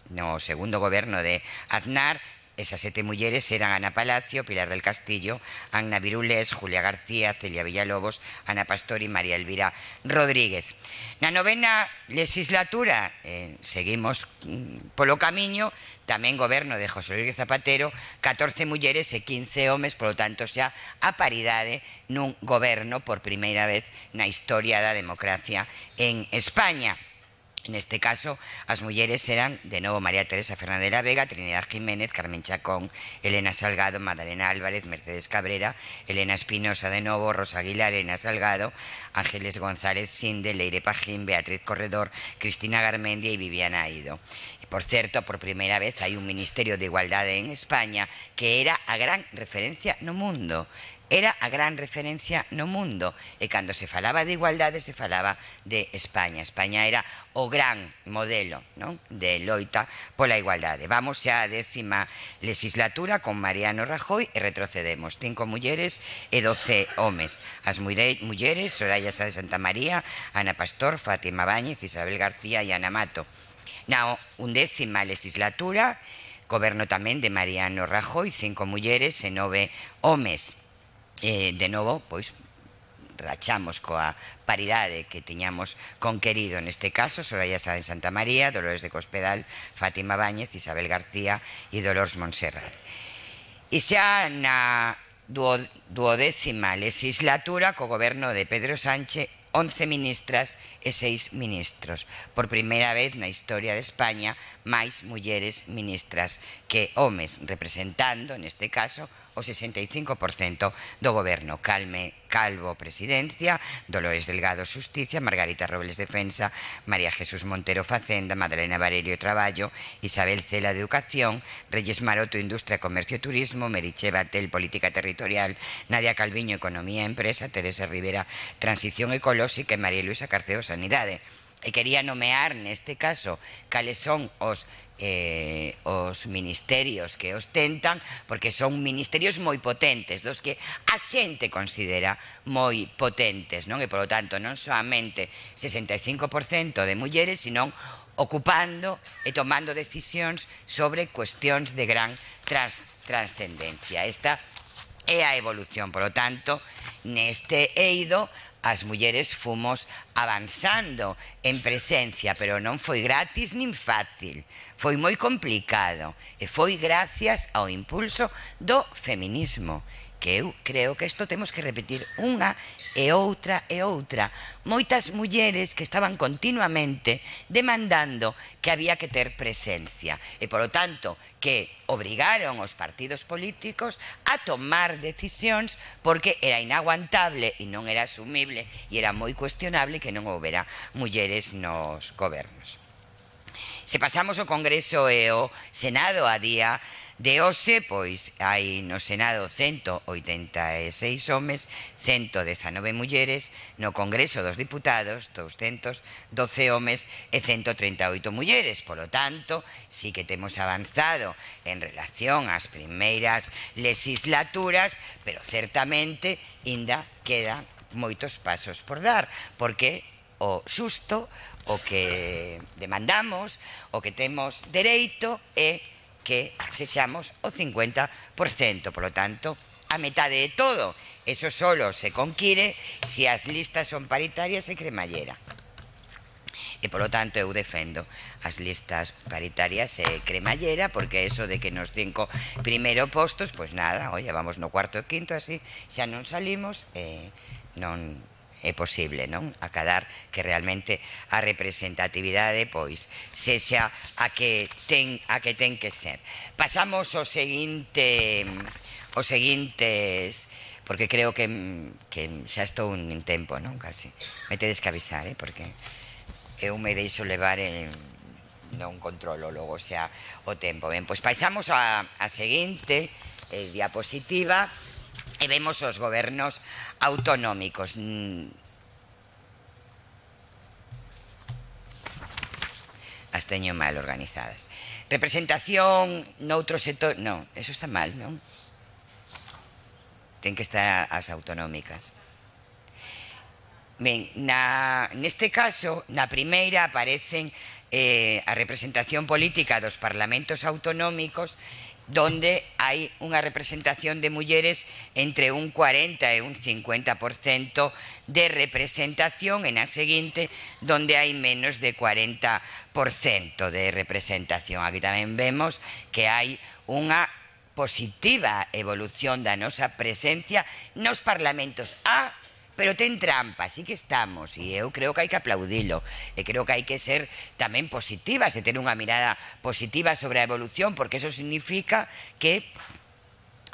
no segundo goberno de Aznar, esas sete mulleres eran Ana Palacio, Pilar del Castillo, Anna Virulés, Julia García, Celia Villalobos, Ana Pastor e María Elvira Rodríguez. Na novena legislatura, eh, seguimos mm, polo camiño, tamén goberno de José Luis Zapatero, catorce mulleres e quince homes, polo tanto xa a paridade nun goberno por primeira vez na historia da democracia en España. Neste caso, as mulleres eran, de novo, María Teresa Fernández de la Vega, Trinidad Jiménez, Carmen Chacón, Elena Salgado, Magdalena Álvarez, Mercedes Cabrera, Elena Espinosa de novo, Rosa Aguilar, Elena Salgado, Ángeles González Sinde, Leire Pajín, Beatriz Corredor, Cristina Garmendia e Viviana Aido. E, por certo, por primeira vez hai un Ministerio de Igualdade en España que era a gran referencia no mundo. Era a gran referencia no mundo, e cando se falaba de igualdade se falaba de España. España era o gran modelo, non?, de loita pola igualdade. Vamos xa á décima legislatura con Mariano Rajoy e retrocedemos cinco mulleres e doce homes. As mulleres, Soraya Sá de Santa María, Ana Pastor, Fátima Báñez, Isabel García e Ana Mato. Na undécima legislatura, goberno tamén de Mariano Rajoy, cinco mulleres e nove homes. Eh, de novo, pois, rachamos coa paridade que tiñamos conquerido neste caso, Soraya Sá de Santa María, Dolores de Cospedal, Fátima Báñez, Isabel García e Dolores Montserrat. E xa na duodécima legislatura, co goberno de Pedro Sánchez, once ministras e seis ministros. Por primeira vez na historia de España, máis mulleres ministras que homes, representando, neste caso, o sesenta e cinco por cento do goberno. Calme Calvo, Presidencia, Dolores Delgado, Xusticia, Margarita Robles, Defensa, María Jesús Montero, Facenda, Madalena Varello, Traballo, Isabel Cela, de Educación, Reyes Maroto, Industria, Comercio e Turismo, Meritxell Batel, Política Territorial, Nadia Calviño, Economía e Empresa, Teresa Rivera, Transición Ecolóxica e María Luisa Carceo, Sanidade. E quería nomear neste caso cales son os eh, os ministerios que ostentan, porque son ministerios moi potentes, dos que a xente considera moi potentes, non? E, polo tanto, non soamente sesenta e cinco por cento de mulleres, senón ocupando e tomando decisións sobre cuestións de gran trans, transcendencia. Esta é a evolución, polo tanto, neste eido, as mulleres fomos avanzando en presencia, pero non foi gratis nin fácil, foi moi complicado, e foi gracias ao impulso do feminismo, que eu creo que isto temos que repetir unha e outra e outra. Moitas mulleres que estaban continuamente demandando que había que ter presencia, e, polo tanto, que obrigaron os partidos políticos a tomar decisións, porque era inaguantable e non era asumible e era moi cuestionable que non houbera mulleres nos gobernos. Se pasamos o Congreso e o Senado a día de hoxe, pois hai no Senado cento oitenta e seis homes, cento dezanove mulleres, no Congreso dos Diputados doscientos doce homes e cento trinta e oito mulleres. Polo tanto, sí que temos avanzado en relación ás primeiras legislaturas, pero certamente ainda quedan moitos pasos por dar, porque o xusto, o que demandamos, o que temos dereito é que sexamos o cincuenta por cento, polo tanto, a metade de todo. Eso solo se conquire se as listas son paritarias e cremallera. E, polo tanto, eu defendo as listas paritarias e cremallera, porque eso de que nos cinco primeiro postos, pois nada, oye, vamos no cuarto e quinto, así xa non salimos, e non é posible, non? Acadar que realmente a representatividade, pois, sexa a que ten a que ten que ser. Pasamos ao seguinte, os seguintes, porque creo que, que xa estou un tempo, non? Casi. Me tedes que avisar, eh? Porque eu me deixo levar en, non controlo logo xa o tempo. Ben, pois paisamos a, a seguinte eh, diapositiva e vemos os gobernos autonómicos. As teño mal organizadas. Representación noutro sector... Non, eso está mal, non? Ten que estar as autonómicas. Ben, na, neste caso, na primeira aparecen eh, a representación política dos parlamentos autonómicos, donde hai unha representación de mulleres entre un cuarenta e un cincuenta por cento de representación, e na seguinte donde hai menos de cuarenta por cento de representación. Aquí tamén vemos que hai unha positiva evolución da nosa presencia nos parlamentos. Ah, pero ten trampa, sí que estamos, e eu creo que hai que aplaudilo, e creo que hai que ser tamén positivas, e ter unha mirada positiva sobre a evolución, porque eso significa que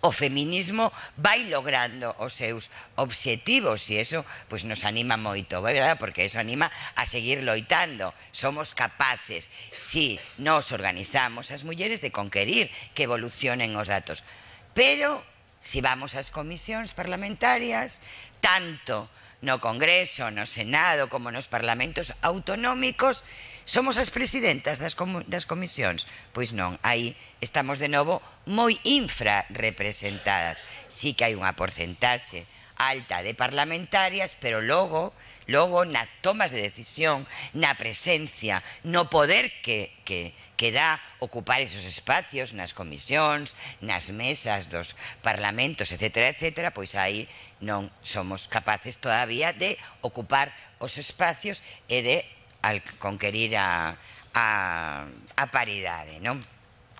o feminismo vai logrando os seus obxectivos, e eso pois nos anima moito, verdad? Porque eso anima a seguir loitando. Somos capaces, si nos organizamos as mulleres, de conquerir que evolucionen os datos. Pero, si vamos ás comisións parlamentarias, tanto no Congreso, no Senado, como nos parlamentos autonómicos, somos as presidentas das, das comisións? Pois non, aí estamos de novo moi infrarrepresentadas. Sí que hai unha porcentaxe alta de parlamentarias, pero logo, logo nas tomas de decisión, na presencia, no poder que, que, que dá ocupar esos espacios nas comisións, nas mesas dos parlamentos, etcétera, etcétera, pois aí non somos capaces todavía de ocupar os espacios e de al conquerir a, a, a paridade, non?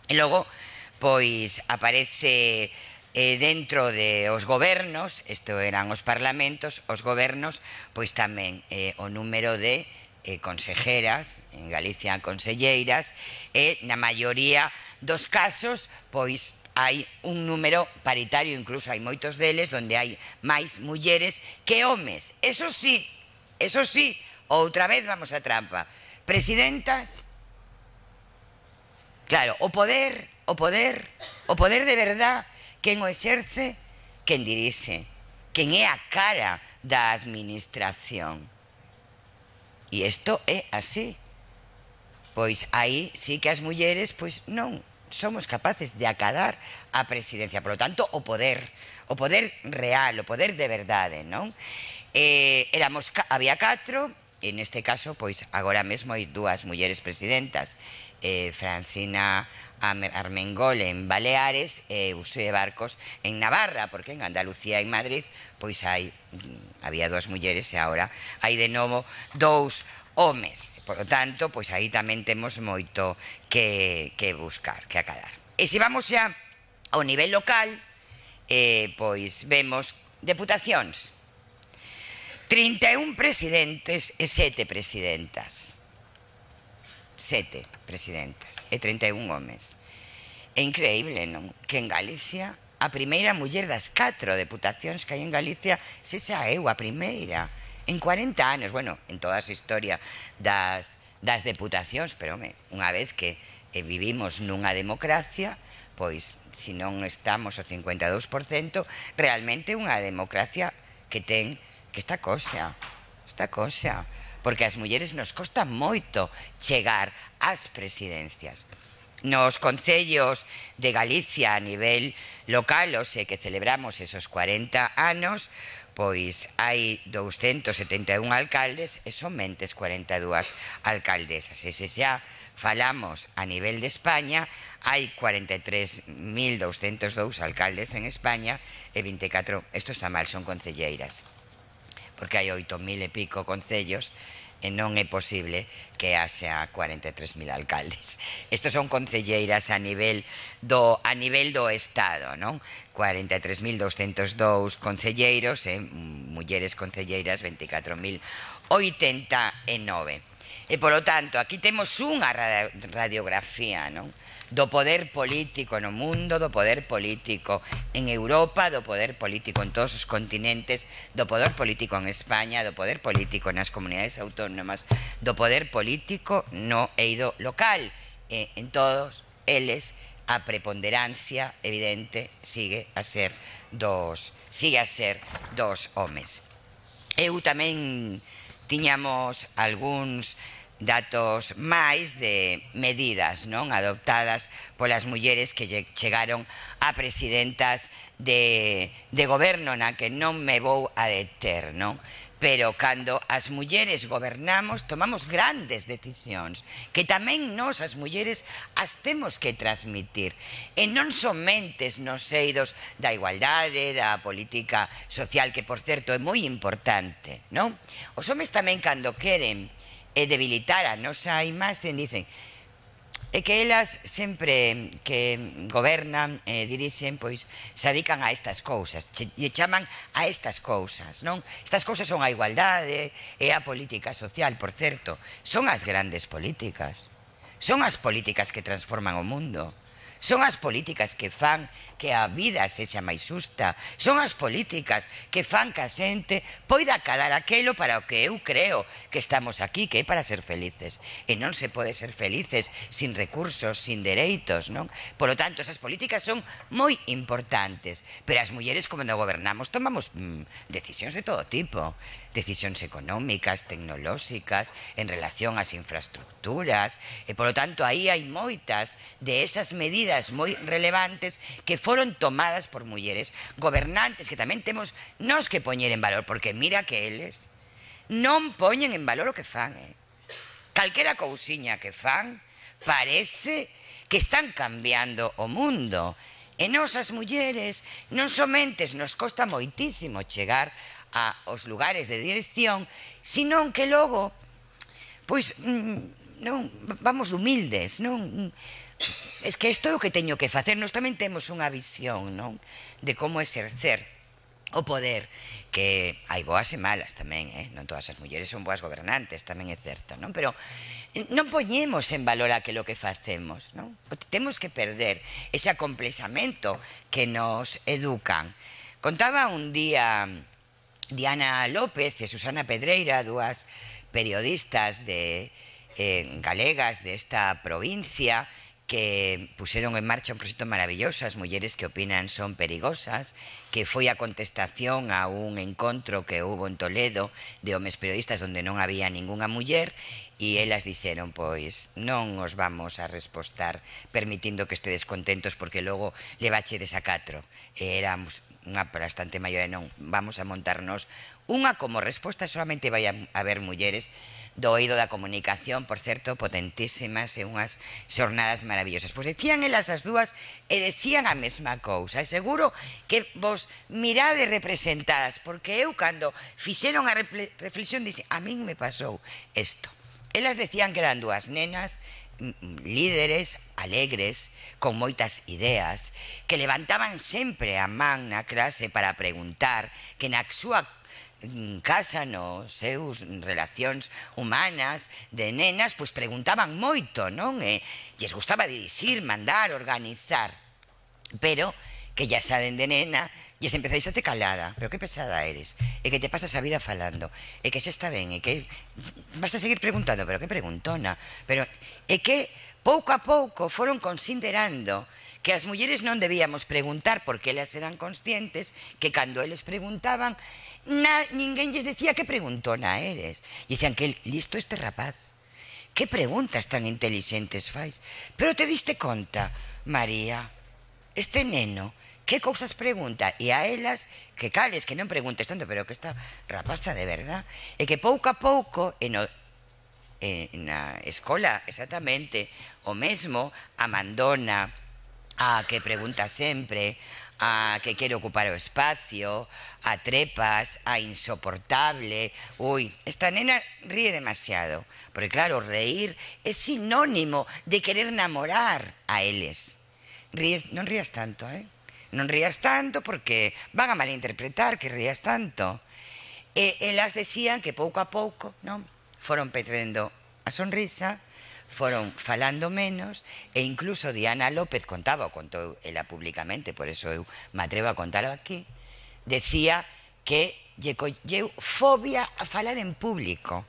E logo, pois, aparece eh, dentro de os gobernos, isto eran os parlamentos, os gobernos, pois tamén eh, o número de eh, consejeras, en Galicia conselleiras, e na maioría dos casos, pois, hai un número paritario, incluso hai moitos deles, onde hai máis mulleres que homes. Eso sí, eso sí, outra vez vamos a trampa. Presidentas, claro, o poder, o poder, o poder de verdad, quen o exerce, quen dirixe, quen é a cara da administración. E isto é así. Pois aí sí que as mulleres, pois non somos capaces de acadar a presidencia. Por lo tanto, o poder, o poder real, o poder de verdade, non? Eh, éramos, había catro, e neste caso, pois agora mesmo hai dúas mulleres presidentas, eh, Francina Armengol en Baleares e Uxue Barcos en Navarra, porque en Andalucía e en Madrid pois hai, había dúas mulleres e agora hai de novo dous homes. Por lo tanto, pois aí tamén temos moito que, que buscar, que acadar. E se vamos xa ao nivel local, eh, pois vemos deputacións, trinta e un presidentes e sete presidentas. Sete presidentas e trinta e un homes. É increíble, non? Que en Galicia a primeira muller das catro deputacións que hai en Galicia sexa eu, a primeira. En cuarenta anos, bueno, en toda a historia das, das deputacións, pero, home, unha vez que eh, vivimos nunha democracia, pois, se non estamos ao cincuenta e dous por cento, realmente unha democracia que ten, que está cosa, está cosa, porque as mulleres nos costa moito chegar ás presidencias. Nos concellos de Galicia a nivel local, o sea, que celebramos esos cuarenta anos, pois hai douscentos setenta e un alcaldes e somente cuarenta e dúas alcaldesas. E se xa falamos a nivel de España, hai cuarenta e tres mil douscentos dous alcaldes en España e vinte e catro, isto está mal, son concelleiras, porque hai oito mil e pico concellos e non é posible que haxa cuarenta e tres mil alcaldes. Estos son concelleiras a nivel do, a nivel do Estado, non? cuarenta e tres mil douscentos dous concelleiros e mulleres concelleiras vinte e catro mil oitenta e nove. E, polo tanto, aquí temos unha radiografía, non? Do poder político no mundo, do poder político en Europa, do poder político en todos os continentes, do poder político en España, do poder político nas comunidades autónomas, do poder político no eido local. E en todos eles a preponderancia evidente sigue a ser dos sigue a ser dos homes. Eu tamén tiñamos algúns datos máis de medidas, non, adoptadas polas mulleres que chegaron a presidentas de, de goberno, na que non me vou a deter, non? Pero cando as mulleres gobernamos tomamos grandes decisións que tamén nós as mulleres as temos que transmitir, e non somente nos eidos da igualdade, da política social, que por certo é moi importante, non? Os homes tamén, cando queren e debilitar a nosa imaxe, dicen é que elas sempre que gobernan e eh, dirixen, pois se dedican a estas cousas, e chaman a estas cousas, non? Estas cousas son a igualdade e a política social, por certo, son as grandes políticas, son as políticas que transforman o mundo, son as políticas que fan que a vida sexa máis xusta, son as políticas que fan que a xente poida acadar aquelo para o que eu creo que estamos aquí, que é para ser felices. E non se pode ser felices sin recursos, sin dereitos, non? Por lo tanto, esas políticas son moi importantes, pero as mulleres, como non gobernamos, tomamos mmm, decisións de todo tipo, decisións económicas, tecnolóxicas, en relación ás infraestructuras, e polo tanto aí hai moitas de esas medidas moi relevantes que foron tomadas por mulleres gobernantes, que tamén temos nós que poñer en valor, porque mira que eles non poñen en valor o que fan, eh? Calquera cousiña que fan parece que están cambiando o mundo, e nós as mulleres non somente nos costa moitísimo chegar aos lugares de dirección, senón que logo pois non vamos de humildes, non? Es que isto é o que teño que facer. Nós tamén temos unha visión, non, de como exercer o poder, que hai boas e malas tamén, eh? Non todas as mulleres son boas gobernantes, tamén é certo, non? Pero non poñemos en valor aquilo que facemos, non? Temos que perder ese acomplexamento que nos educan. Contaba un día Diana López e Susana Pedreira, dúas periodistas de eh, galegas desta provincia, que puseron en marcha un proxecto maravilloso, As mulleres que opinan son perigosas, que foi a contestación a un encontro que hubo en Toledo de homes periodistas onde non había ningunha muller, e elas dixeron, pois, non os vamos a respostar permitindo que estedes contentos porque logo levachedes a catro. E éramos unha bastante maior, e non, vamos a montarnos unha como resposta, solamente vai a haber mulleres do eido da comunicación, por certo, potentísimas, e unhas xornadas maravillosas. Pois decían elas as dúas e decían a mesma cousa, e seguro que vos mirade representadas, porque eu, cando fixeron a reflexión, dixen, a min me pasou isto. Elas decían que eran dúas nenas líderes, alegres, con moitas ideas, que levantaban sempre a man na clase para preguntar, que na súa casa, nos seus relacións humanas de nenas, pois preguntaban moito, non? E lles gustaba dirixir, mandar, organizar, pero que ya saben de nena, lles empezáis a te calada, pero que pesada eres, e que te pasas a vida falando, e que xa está ben, e que vas a seguir preguntando, pero que preguntona, pero é que pouco a pouco foron considerando que as mulleres non debíamos preguntar, porque elas eran conscientes que cando eles preguntaban, na, ninguén lles decía que preguntona eres. E dicían, que listo este rapaz, que preguntas tan inteligentes fais. Pero te diste conta, María, este neno, que cousas pregunta? E a elas, que cales, que non preguntes tanto, pero que esta rapaza de verdad. E que pouco a pouco, en o, en na escola, exactamente, o mesmo, a mandona, a que pregunta sempre, a que quere ocupar o espacio, a trepas, a insoportable. Ui, esta nena ríe demasiado, porque claro, reír é sinónimo de querer namorar a eles. Ríes, non rías tanto, eh? Non rías tanto porque van a malinterpretar que rías tanto. E elas decían que pouco a pouco, non, foron perdendo a sonrisa, foron falando menos, e incluso Diana López contaba, o contou ela públicamente, por eso eu me atrevo a contalo aquí, decía que lle colleu fobia a falar en público.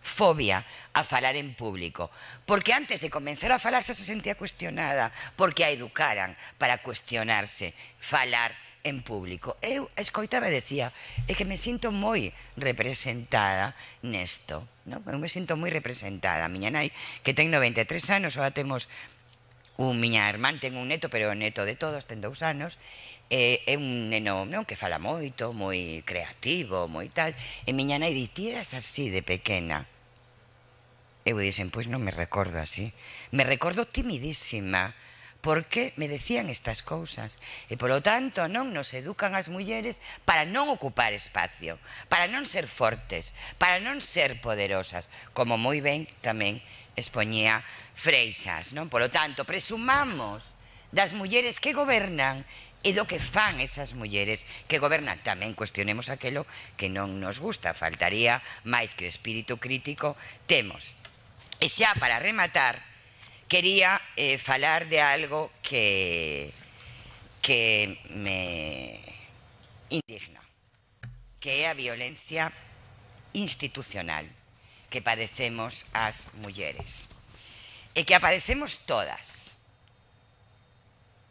Fobia a falar en público, porque antes de comenzar a falar xa se sentía cuestionada, porque a educaran para cuestionarse, falar en público. Eu escoitaba e decía, é que me sinto moi representada nesto, non? Eu me sinto moi representada. A miña nai, que ten noventa e tres anos, ahora temos un miña irmán, ten un neto, pero o neto de todos ten dous anos, é un neno, non, que fala moito, moi creativo, moi tal, e miña nai di, ti eras así de pequena. Eu dixen, pois non me recordo así. Me recordo timidísima, porque me decían estas cousas. E, polo tanto, non nos educan as mulleres para non ocupar espacio, para non ser fortes, para non ser poderosas, como moi ben tamén expoñía Freixas, non? Polo tanto, presumamos das mulleres que gobernan e do que fan esas mulleres que gobernan. Tamén cuestionemos aquelo que non nos gusta. Faltaría máis que o espírito crítico temos. E xa para rematar, quería eh, falar de algo que, que me indigna, que é a violencia institucional que padecemos as mulleres, e que a padecemos todas,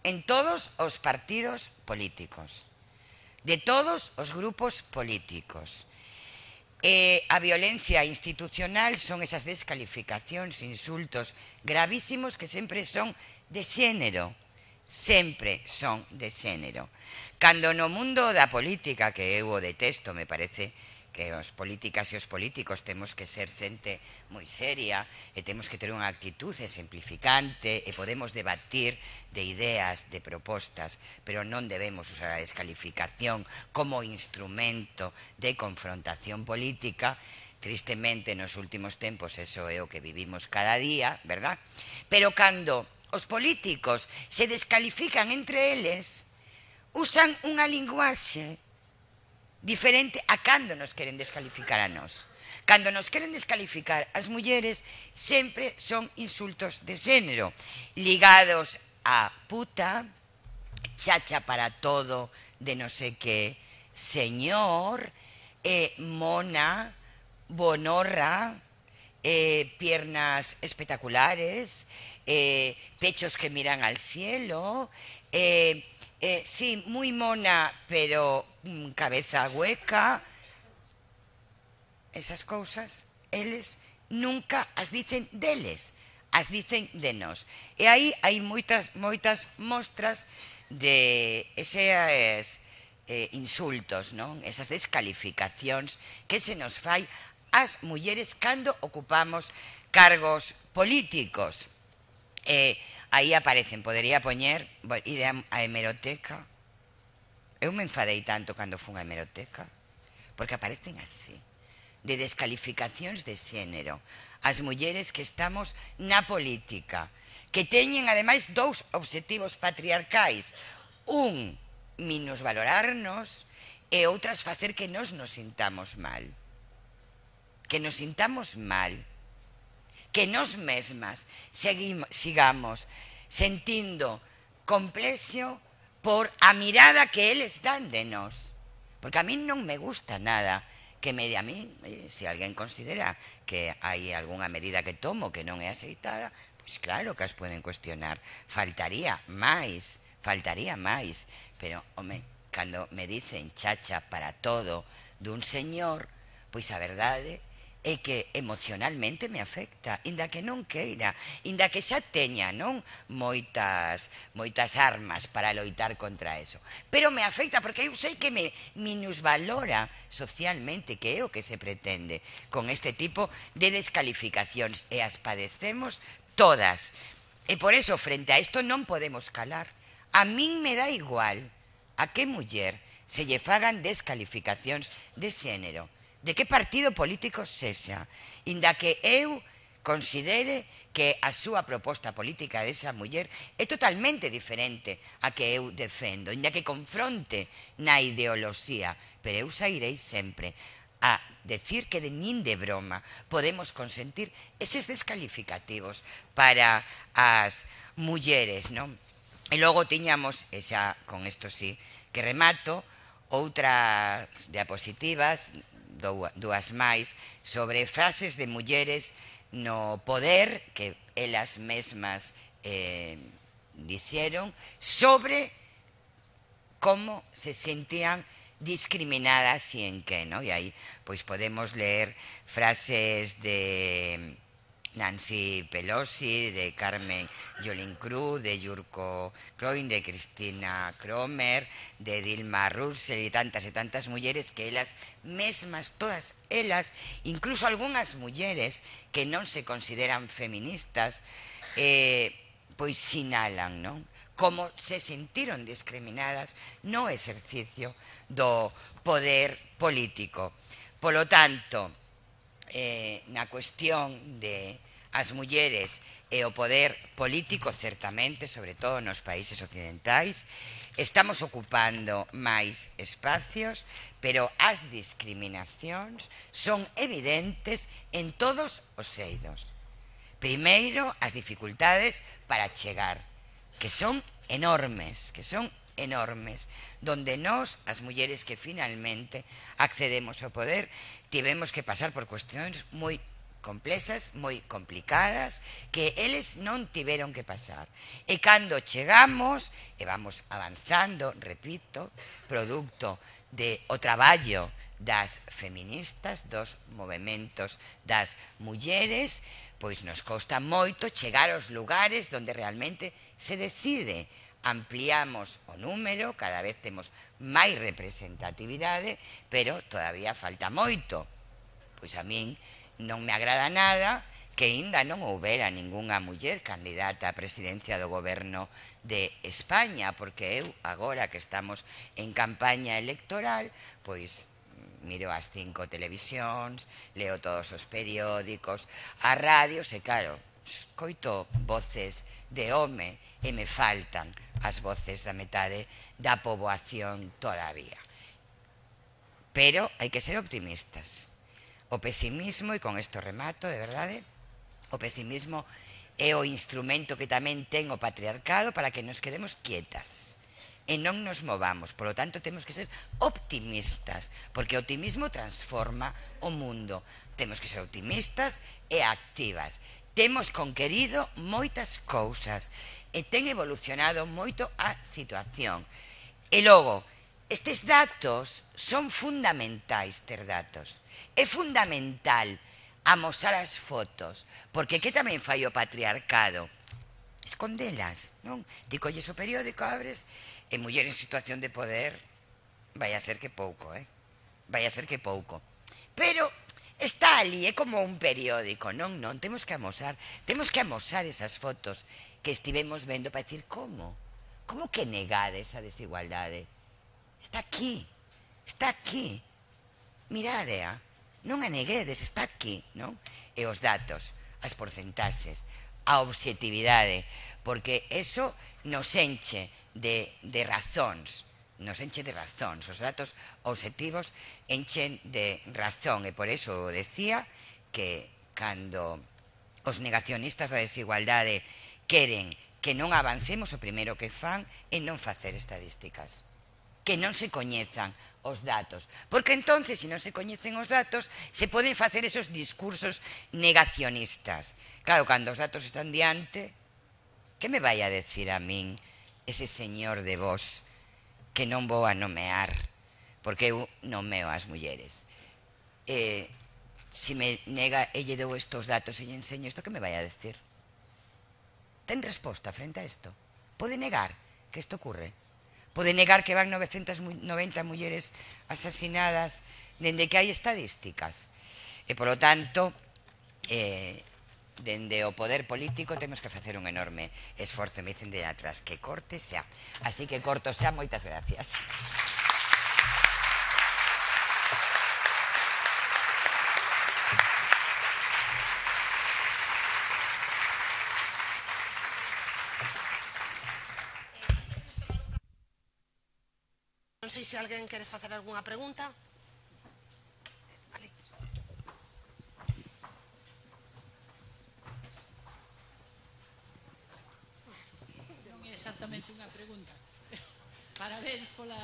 en todos os partidos políticos, de todos os grupos políticos. E a violencia institucional son esas descalificacións, insultos gravísimos que sempre son de xénero, sempre son de xénero. Cando no mundo da política, que eu o detesto, me parece que os políticas e os políticos temos que ser xente moi seria e temos que ter unha actitud exemplificante e podemos debatir de ideas, de propostas, pero non debemos usar a descalificación como instrumento de confrontación política. Tristemente, nos últimos tempos, eso é o que vivimos cada día, verdad? Pero cando os políticos se descalifican entre eles, usan unha linguaxe diferente a cando nos queren descalificar a nós. Cando nos queren descalificar as mulleres, sempre son insultos de xénero, ligados a puta, chacha para todo, de no sé qué, señor, eh, mona, bonorra, eh, piernas espectaculares, eh, pechos que miran al cielo, eh, Eh, sí, muy mona, pero mm, cabeza hueca. Esas cousas, eles nunca as dicen deles, as dicen de nós. E aí hai moitas, moitas mostras de eses eh, insultos, non? Esas descalificacións que se nos fai ás mulleres cando ocupamos cargos políticos. Eh, aí aparecen, podería poñer, ide a hemeroteca. Eu me enfadei tanto cando fun a hemeroteca, porque aparecen así, de descalificacións de xénero. As mulleres que estamos na política, que teñen ademais dous obxectivos patriarcais. Un, minusvalorarnos, e outras facer que nos nos sintamos mal. Que nos sintamos mal. Que nós mesmas seguimos, sigamos sentindo complexo por a mirada que eles dan de nós. Porque a mí non me gusta nada que me de a mí, se alguén considera que hai algunha medida que tomo que non é aceitada, pois claro que as poden cuestionar. Faltaría máis, faltaría máis. Pero, home, cando me dicen chacha para todo dun señor, pois a verdade é que emocionalmente me afecta, inda que non queira, inda que xa teña, non, moitas moitas armas para loitar contra eso. Pero me afecta porque eu sei que me minusvalora socialmente, que é o que se pretende con este tipo de descalificacións, e as padecemos todas. E por eso, frente a isto, non podemos calar. A min me dá igual a que muller se lle fagan descalificacións de xénero, de que partido político sexa, inda que eu considere que a súa proposta política desa muller é totalmente diferente a que eu defendo, inda que confronte na ideoloxía, pero eu sairei sempre a decir que de nin de broma podemos consentir eses descalificativos para as mulleres, non? E logo tiñamos, e xa con isto sí que remato, outras diapositivas, dúas máis, sobre frases de mulleres no poder que elas mesmas eh, dixeron sobre como se sentían discriminadas e en que, no? E aí pois podemos ler frases de Nancy Pelosi, de Carmen Yulín Cruz, de Yurko Kroin, de Cristina Cromer, de Dilma Rousseff e tantas e tantas mulleres que elas mesmas, todas elas, incluso algunhas mulleres que non se consideran feministas, eh, pois sinalan, non? Como se sentiron discriminadas no exercicio do poder político. Polo tanto, eh, na cuestión de as mulleres e o poder político, certamente, sobre todo nos países occidentais, estamos ocupando máis espacios, pero as discriminacións son evidentes en todos os eidos. Primeiro, as dificultades para chegar, que son enormes, que son enormes, donde nós, as mulleres que finalmente accedemos ao poder, tivemos que pasar por cuestións moi complexas, moi complicadas, que eles non tiveron que pasar. E cando chegamos, e vamos avanzando, repito, producto de o traballo das feministas, dos movementos das mulleres, pois nos costa moito chegar aos lugares onde realmente se decide. Ampliamos o número, cada vez temos máis representatividade, pero todavía falta moito. Pois a min non me agrada nada que ainda non houbera ningunha muller candidata á presidencia do goberno de España, porque eu, agora que estamos en campaña electoral, pois miro as cinco televisións, leo todos os periódicos, as radios, e claro, coito voces de home e me faltan as voces da metade da poboación todavía. Pero hai que ser optimistas. O pesimismo, e con isto remato, de verdade, o pesimismo é o instrumento que tamén ten o patriarcado para que nos quedemos quietas e non nos movamos. Por lo tanto, temos que ser optimistas, porque o optimismo transforma o mundo. Temos que ser optimistas e activas. Temos conquerido moitas cousas e ten evolucionado moito a situación. E logo, estes datos son fundamentais ter datos. É fundamental amosar as fotos, porque que tamén fai o patriarcado? Escondelas, non? Ti colles o periódico, abres, e muller en situación de poder, vai a ser que pouco, eh? Vai a ser que pouco. Pero está ali, é como un periódico, non? Non, temos que amosar, temos que amosar esas fotos que estivemos vendo para dicir como? Como que negade esa desigualdade? Está aquí, está aquí. Miradea, non a neguedes, está aquí, non? E os datos, as porcentaxes, a obxectividade, porque eso nos enche de, de razóns, nos enche de razóns, os datos obxectivos enchen de razón, e por eso decía que cando os negacionistas da desigualdade queren que non avancemos, o primeiro que fan é non facer estadísticas, que non se coñezan os datos, porque entonces, se non se coñecen os datos, se poden facer esos discursos negacionistas. Claro, cando os datos están diante, que me vai a decir a min ese señor de vos que non vou a nomear, porque eu nomeo as mulleres? Eh, se me nega e lle dou estos datos e lle enseño isto, que me vai a decir? Ten resposta frente a isto? Pode negar que isto ocurre? Pode negar que van novecentas noventa mulleres asasinadas dende que hai estadísticas? E, polo tanto, eh, dende o poder político temos que facer un enorme esforzo. Me dicen de atrás que corte xa. Así que corto xa, moitas gracias. Non sei se alguén quere facer algunha pregunta. Vale. solamente unha pregunta. Parabéns pola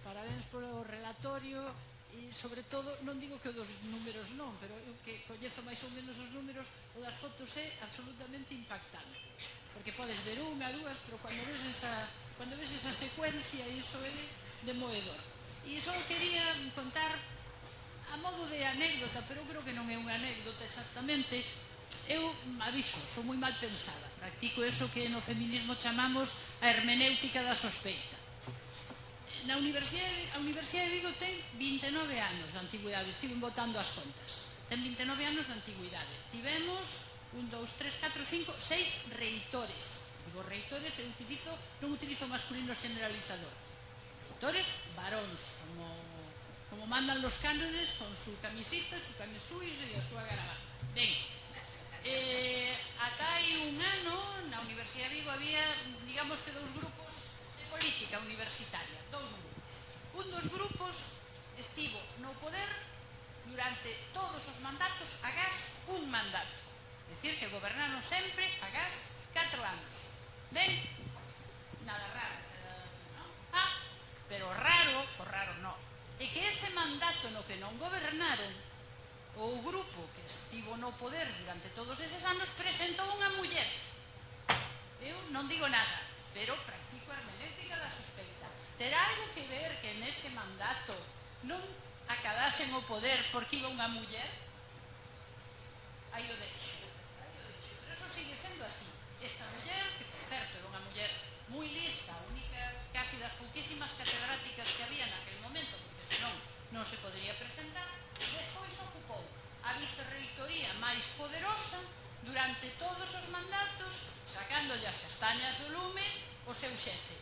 parabéns polo relatorio e, sobre todo, non digo que o dos números non, pero eu que coñezo máis ou menos os números, o das fotos é absolutamente impactante. Porque podes ver unha, dúas, pero cando ves esa, cando ves esa secuencia, iso é demoedor. E iso quería contar a modo de anécdota, pero creo que non é unha anécdota exactamente. Eu aviso, sou moi mal pensada. Practico eso que no feminismo chamamos a hermenéutica da sospeita. Na Universidade, a Universidade de Vigo ten vinte e nove anos de antigüidade. Estive botando as contas. Ten vinte e nove anos de antigüidade. Tivemos un, dous, tres, catro, cinco, seis reitores. Digo reitores, eu utilizo, non utilizo masculino generalizador. Reitores varóns, como, como mandan los cánones, con su camisita, su camisúis e a súa gravata. Ben, eh, ata hai un ano na Universidade de Vigo había, digamos que dous grupos de política universitaria, dous grupos. Un dos grupos estivo no poder durante todos os mandatos agás un mandato. É dicir, que gobernaron sempre agás catro anos. Ben, nada raro, non? Ah, pero raro, o raro non, é que ese mandato no que non gobernaron, o grupo que estivo no poder durante todos eses anos presentou unha muller. Eu non digo nada, pero practico a hermenéutica da sospeita. Terá algo que ver que nese mandato non acadasen o poder porque iba unha muller? Aí o deixo, aí o deixo. Pero eso sigue sendo así. Esta muller, que por certo era unha muller moi lista, única, casi das pouquísimas catedráticas que había naquele momento, porque senón non se podería presentar, despois ocupou a vicerreitoría máis poderosa durante todos os mandatos, sacándolle as castañas do lume o seu xefe.